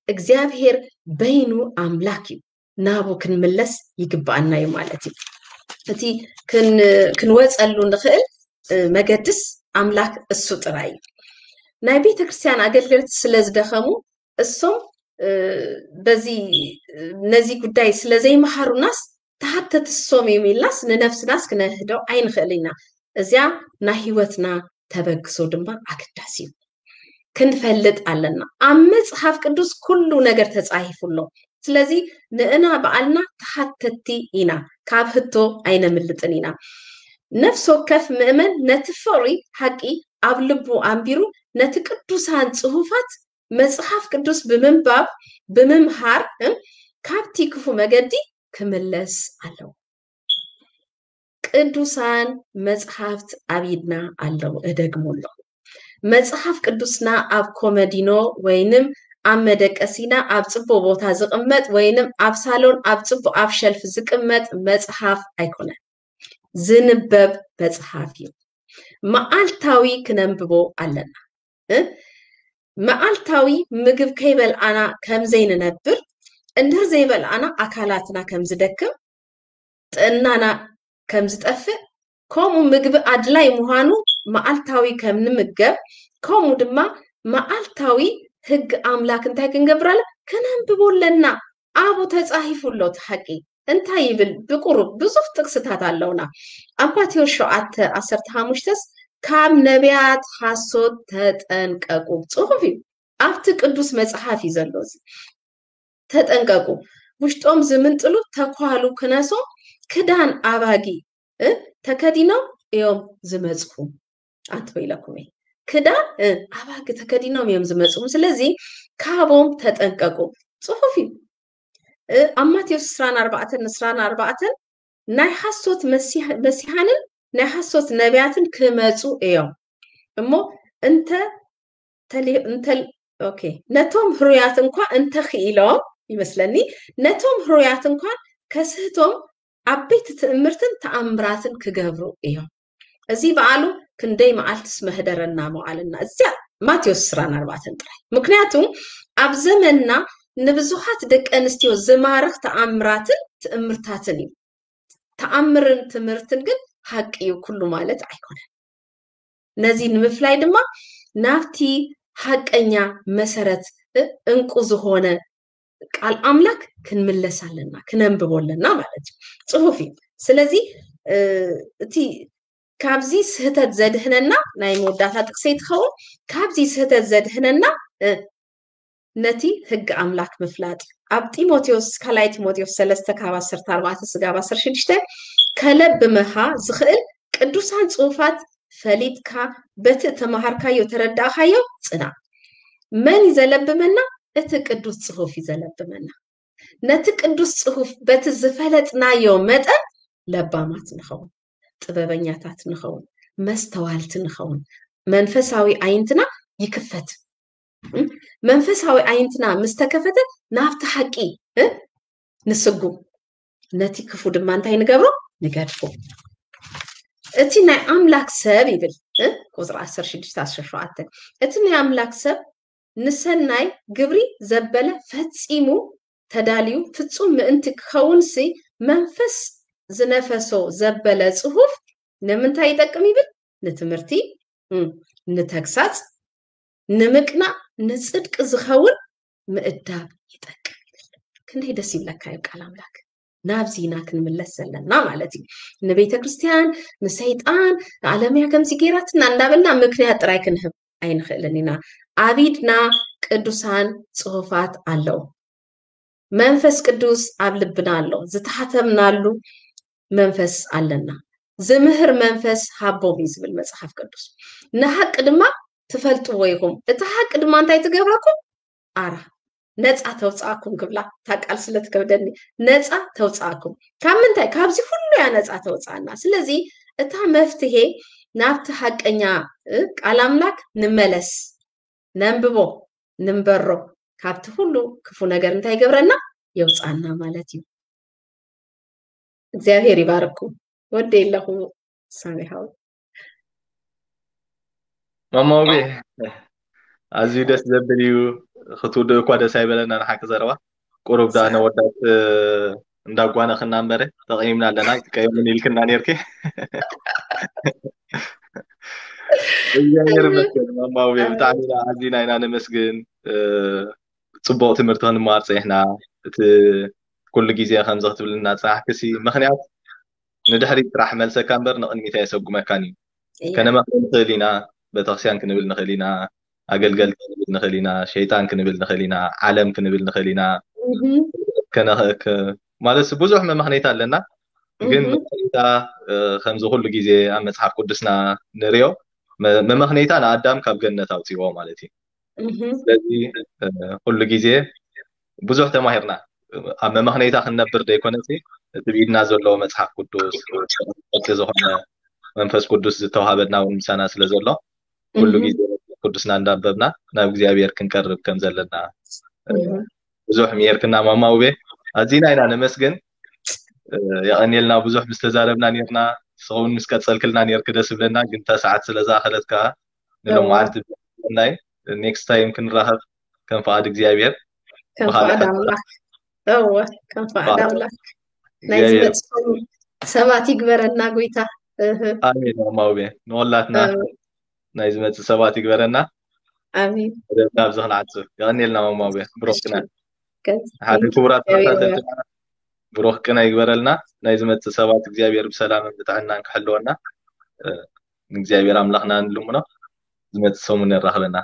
እግዚኣብሔር በይኑ ኣምላክ እዩ። ናቡ ክንምለስ ይግብኣና እዩ ማለት እዩ። እቲ ክን-፣ ክንወፀሉ ንኽእል፣ እ፣ መገድስ ኣምላክ እሱ ጥራይ እዩ። ናይ ቤተ ክርስቲያን ኣገልገልቲ ስለ ዝደኸሙ እሶም፣ እ፣ በዚ፣ ነዚ ጉዳይ ስለ ዘይመሃሩናስ ተሓተቲ እሶም እዮም ኢልናስ ንነፍስናስ ክነህዶ ኣይንኽእል ኢና። እዚኣ ናይ ህይወትና ተበግሶ ድማ ኣገዳሲ እዩ። ክንፈልጥ ኣለና። ኣብ መጽሓፍ ቅዱስ ኩሉ ነገር ተጻሂፉ ኣሎ። ስለዚ ንእና በዓልና ተሓተቲ ኢና፣ ካብ ህቶ ኣይነምልጥን ኢና። ነፍሲ ወከፍ ምእመን ነቲ ፍቕሪ ሓቂ ኣብ ልቡ ኣንቢሩ ነቲ ቅዱሳን ጽሑፋት መጽሓፍ ቅዱስ ብምንባብ፣ ብምምሃር፣ እም፣ ካብቲ ክፉ መገዲ ክምለስ ኣለዎ። ቅዱሳን መጽሓፍት ኣብ ኢድና ኣለዉ። እደግሞ ኣለኹ። መጽሓፍ ቅዱስና ኣብ ኮመዲኖ ወይንም ኣብ መደቀሲና ኣብ ጽቡቕ ቦታ ዝቕመጥ ወይንም ኣብ ሳሎን ኣብ ጽቡቕ ኣብ ሸልፍ ዝቅመጥ መጽሓፍ ኣይኮነን። ዝንበብ መጽሓፍ እዩ። መዓልታዊ ክነንብቦ ኣለና። እ? መዓልታዊ ምግብ ከይበልዓና ከም ዘይንነብር፣ እንድህር ዘይበልዓና ኣካላትና ከም ዝደክም፣ ጥዕናና ከም ዝጠፍእ፣ ከምኡ ምግቢ ኣድላይ ምዃኑ መዓልታዊ ከም ንምገብ፣ ከምኡ ድማ መዓልታዊ ህግ ኣምላክ እንታይ ክንገብር ኣለ? ከነንብቦ ኣለና። ኣብኡ ተጻሂፉ ኣሎ እቲ ሓቂ። እንታይ ይብል? ብቁሩብ ብዙሕ ጥቅስታት ኣለውና። ኣብ ማቴዎስ ሸውዓተ ዓሰርተ ሓሙሽተስ ካብ ነቢያት ሓሶት ተጠንቀቁ። ጽሑፍ እዩ። ኣብቲ ቅዱስ መጽሓፍ እዩ ዘሎ እዚ። ተጠንቀቁ። ውሽጦም ዝምንጥሉ ተኳሉ ክነሶም ክዳን ኣባጊ፣ እ፣ ተከዲኖም እዮም ዝመጽኹ። ኣንተ ኢለኩም እየ። ክዳን፣ እ፣ ኣባጊ ተከዲኖም እዮም ዝመጽኹ። ስለዚ ካብኦም ተጠንቀቁ። ጽሑፍ እዩ። እ፣ ኣብ ማቴዎስ ዕስራን ኣርባዕተን ዕስራን ኣርባዕተን ናይ ሓሶት መሲሕ-፣ መሲሓንን ናይ ሓሶት ነቢያትን ክመጹ እዮም። እሞ እንተ ተሊ-፣ እንተ-፣ ኦኬ፣ ነቶም ህሩያት እንኳ እንተኽኢሎም ይመስለኒ፣ ነቶም ህሩያት እንኳ ከስህቶም ዓበይቲ ትእምርትን ተኣምራትን ክገብሩ እዮም። እዚ በዓሉ ክንደይ መዓልትስ መህደረና መዋልና። እዚኣ ማቴዎስ ዕስራን ኣርባዕተን ጥራይ። ምክንያቱ ኣብ ዘመንና ንብዙሓት ደቂ ኣንስትዮ ዝማርኽ ተኣምራትን ትእምርታትን እዩ። ተኣምርን ትምህርትን ግን ሓቂ እዩ ኩሉ ማለት ኣይኮነን። ነዚ ንምፍላይ ድማ ናብቲ ሓቀኛ መሰረት፣ እ፣ እንቁ ዝኾነ ቃል ኣምላክ ክንምለስ ኣለና፣ ክነንብቦ ኣለና ማለት እዩ። ጽሑፍ እዩ። ስለዚ፣ እ፣ እቲ ካብዚ ስህተት ዘድህነና ናይ መወዳእታ ጥቅሰይ ትኸውን። ካብዚ ስህተት ዘድህነና ነቲ ህግ ኣምላክ ምፍላጥ። ኣብ ጢሞቴዎስ ካልኣይ ጢሞቴዎስ ሰለስተ ካብ ዓሰርተ ኣርባዕተ ስጋብ ዓሰርተ ሽዱሽተ ከለብመኻ ዝኽእል ቅዱሳን ጽሑፋት ፈሊጥካ በቲ እተማሃርካዮ ተረዳእካዮ ጽና። መን እዩ ዘለብመና? እቲ ቅዱስ ጽሑፍ እዩ ዘለብመና። ነቲ ቅዱስ ጽሑፍ በቲ ዝፈለጥናዮ መጠን ለባማት ንኸውን፣ ጥበበኛታት ንኸውን፣ መስተዋልቲ ንኸውን። መንፈሳዊ ኣይንትና ይክፈት። መንፈሳዊ ኣይንትና ምስ ተከፈተ ናብቲ ሓቂ ንስጉ፣ ነቲ ክፉ ድማ እንታይ ንገብሮ? ንገድፎ። እቲ ናይ ኣምላክ ሰብ ይብል ቁፅሪ ዓሰርተ ሽዱሽተ ዓሰርተ ሸውዓተ፣ እቲ ናይ ኣምላክ ሰብ ንሰናይ ግብሪ ዘበለ ፈጺሙ ተዳልዩ ፍጹም ምእንቲ ክኸውንሲ መንፈስ ዝነፈሶ ዘበለ ጽሑፍ ንምንታይ ይጠቅም ይብል? ንትምህርቲ፣ ንተግሳጽ፣ ንምቅናእ፣ ንጽድቂ ዝኸውን ምእዳብ ይጠቅም ይብል። ክንደይ ደስ ይብለካ እዩ ቃል ኣምላክ። ናብዚ ኢና ክንምለስ ዘለና ማለት እዩ። ንቤተ ክርስቲያን፣ ንሰይጣን፣ ንዓለምያ ከምዚ ገይራትና እንዳበልና ምክንያት ጥራይ ክንህብ ኣይንኽእልን ኢና። ኣብ ኢድና ቅዱሳን ጽሑፋት ኣለዉ። መንፈስ ቅዱስ ኣብ ልብና ኣሎ። ዝተሓተምናሉ መንፈስ ኣለና። ዝምህር መንፈስ ሃቦም እዩ ዝብል መጽሓፍ ቅዱስ። ንሓቂ ድማ ትፈልጥዎ ኢኹም። እቲ ሓቂ ድማ እንታይ ትገብረኩም? ኣራ ነፃ ተውፅኣኩም ክብላ፣ እታ ቃል ስለ ትከብደኒ፣ ነፃ ተውፅኣኩም። ካብ ምንታይ? ካብዚ ኩሉ እያ ነፃ ተውፅኣና። ስለዚ እታ መፍትሄ ናብቲ ሓቀኛ ቃል ኣምላክ ንመለስ፣ ነንብቦ፣ ንንበሮ። ካብቲ ኩሉ ክፉ ነገር እንታይ ይገብረና? የውፅኣና ማለት እዩ። እግዚኣብሔር ይባርኩም። ወደ የለኹ ሳሚሃው ማማውቤ ኣዝዩ ደስ ዘብል እዩ። ክትውድእ እኳ ደስ ኣይበለና ንሓቂ ዘረባ። ቁሩብ ዳ ነወዳት እንዳጓነኽና እምበረ ተቐይምና ኣለና። ኣይትቀየሙን ኢልክና ኔርኪ። እግዚኣብሔር ይመስገን ማማውቤ፣ ብጣዕሚ ኢና ኣዚና ኢና ነመስግን። ጽቡቕ ትምህርቲ ክንመሃር ጸኒሕና። እቲ ኩሉ ግዜ ከምዚ ክትብልና ዝጸናሕክሲ ምኽንያት ንድሕሪት ጥራሕ መልሰካ እምበር ንቕድሚት ኣየሰጉመካን እዩ። ከነመኽሪ ንኽእል ኢና፣ ቤተክርስትያን ክንብል ንኽእል ኢና፣ ኣገልገልቲ ክንብል ንኽእል ኢና፣ ሸይጣን ክንብል ንኽእል ኢና፣ ዓለም ክንብል ንኽእል ኢና። ማለት ብዙሕ መመኽነይታ ኣለና። ግን መመኽነይታ ከምዚ ኩሉ ግዜ ኣብ መጽሓፍ ቅዱስና ንሪኦ፣ መመኽነይታ ንኣዳም ካብ ገነት ኣውፅዎ ማለት እዩ። ስለዚ ኩሉ ግዜ ብዙሕ ተማሂርና ኣብ መመኽነይታ ክንነብር ዘይኮነ፣ እቲ ብኢድና ዘለዎ መጽሓፍ ቅዱስ፣ ቅርጺ ዝኾነ መንፈስ ቅዱስ ዝተዋሃበና እውን ምሳና ስለ ዘሎ፣ ኩሉ ግዜ መጽሓፍ ቅዱስና እንዳንበብና ናብ እግዚኣብሔር ክንቀርብ ከም ዘለና ብዙሕ ምሄርክና ማማ ውቤ። ኣዚና ኢና ነመስግን። የቐንየልና፣ ብዙሕ ምስ ተዛረብና ኔርና፣ ንስኻ እውን ምስ ቀጸልክልና ኔርክ ደስ ይብለና፣ ግን እታ ሰዓት ስለ ዝኣኸለት ከኣ ንሎምዓንቲ ናይ ኔክስት ታይም ክንራኸብ ከም ፍቓድ እግዚኣብሔር። ከም ብኻልእ ፍቓድ ሓሳብ ኣምላኽ። እወ፣ ከም ፍቓድ ብኻልእ ኣምላኽ። ናይ እግዚኣብሔር። ዝመጽእ ሰባት ይግበረና ጎይታ። እህ። ኣሜን። ማማ ውቤ፣ ንወላትና ኣሜን። ናይ ዝመጽእ ሰባት ይግበረና። ኣሜን። መደብና ኣብዚ ክንዓጽፍ። የቐንየልና ማማ ውቤ። ብሩኽ እሺ። ቅነ። ከዚ ሓደ ክቡራት እግዚኣብሔር ተኸታተልትና፣ ብሩኽ ቅነ ይግበረልና። ናይ ዝመጽእ ሰባት እግዚኣብሔር ብሰላምን ብጥዕናን ክሕልወና፣ እ፣ ንእግዚኣብሔር ኣምላኽና ንልምኖ። ዝመጽእ ሰሙን የራኽበና።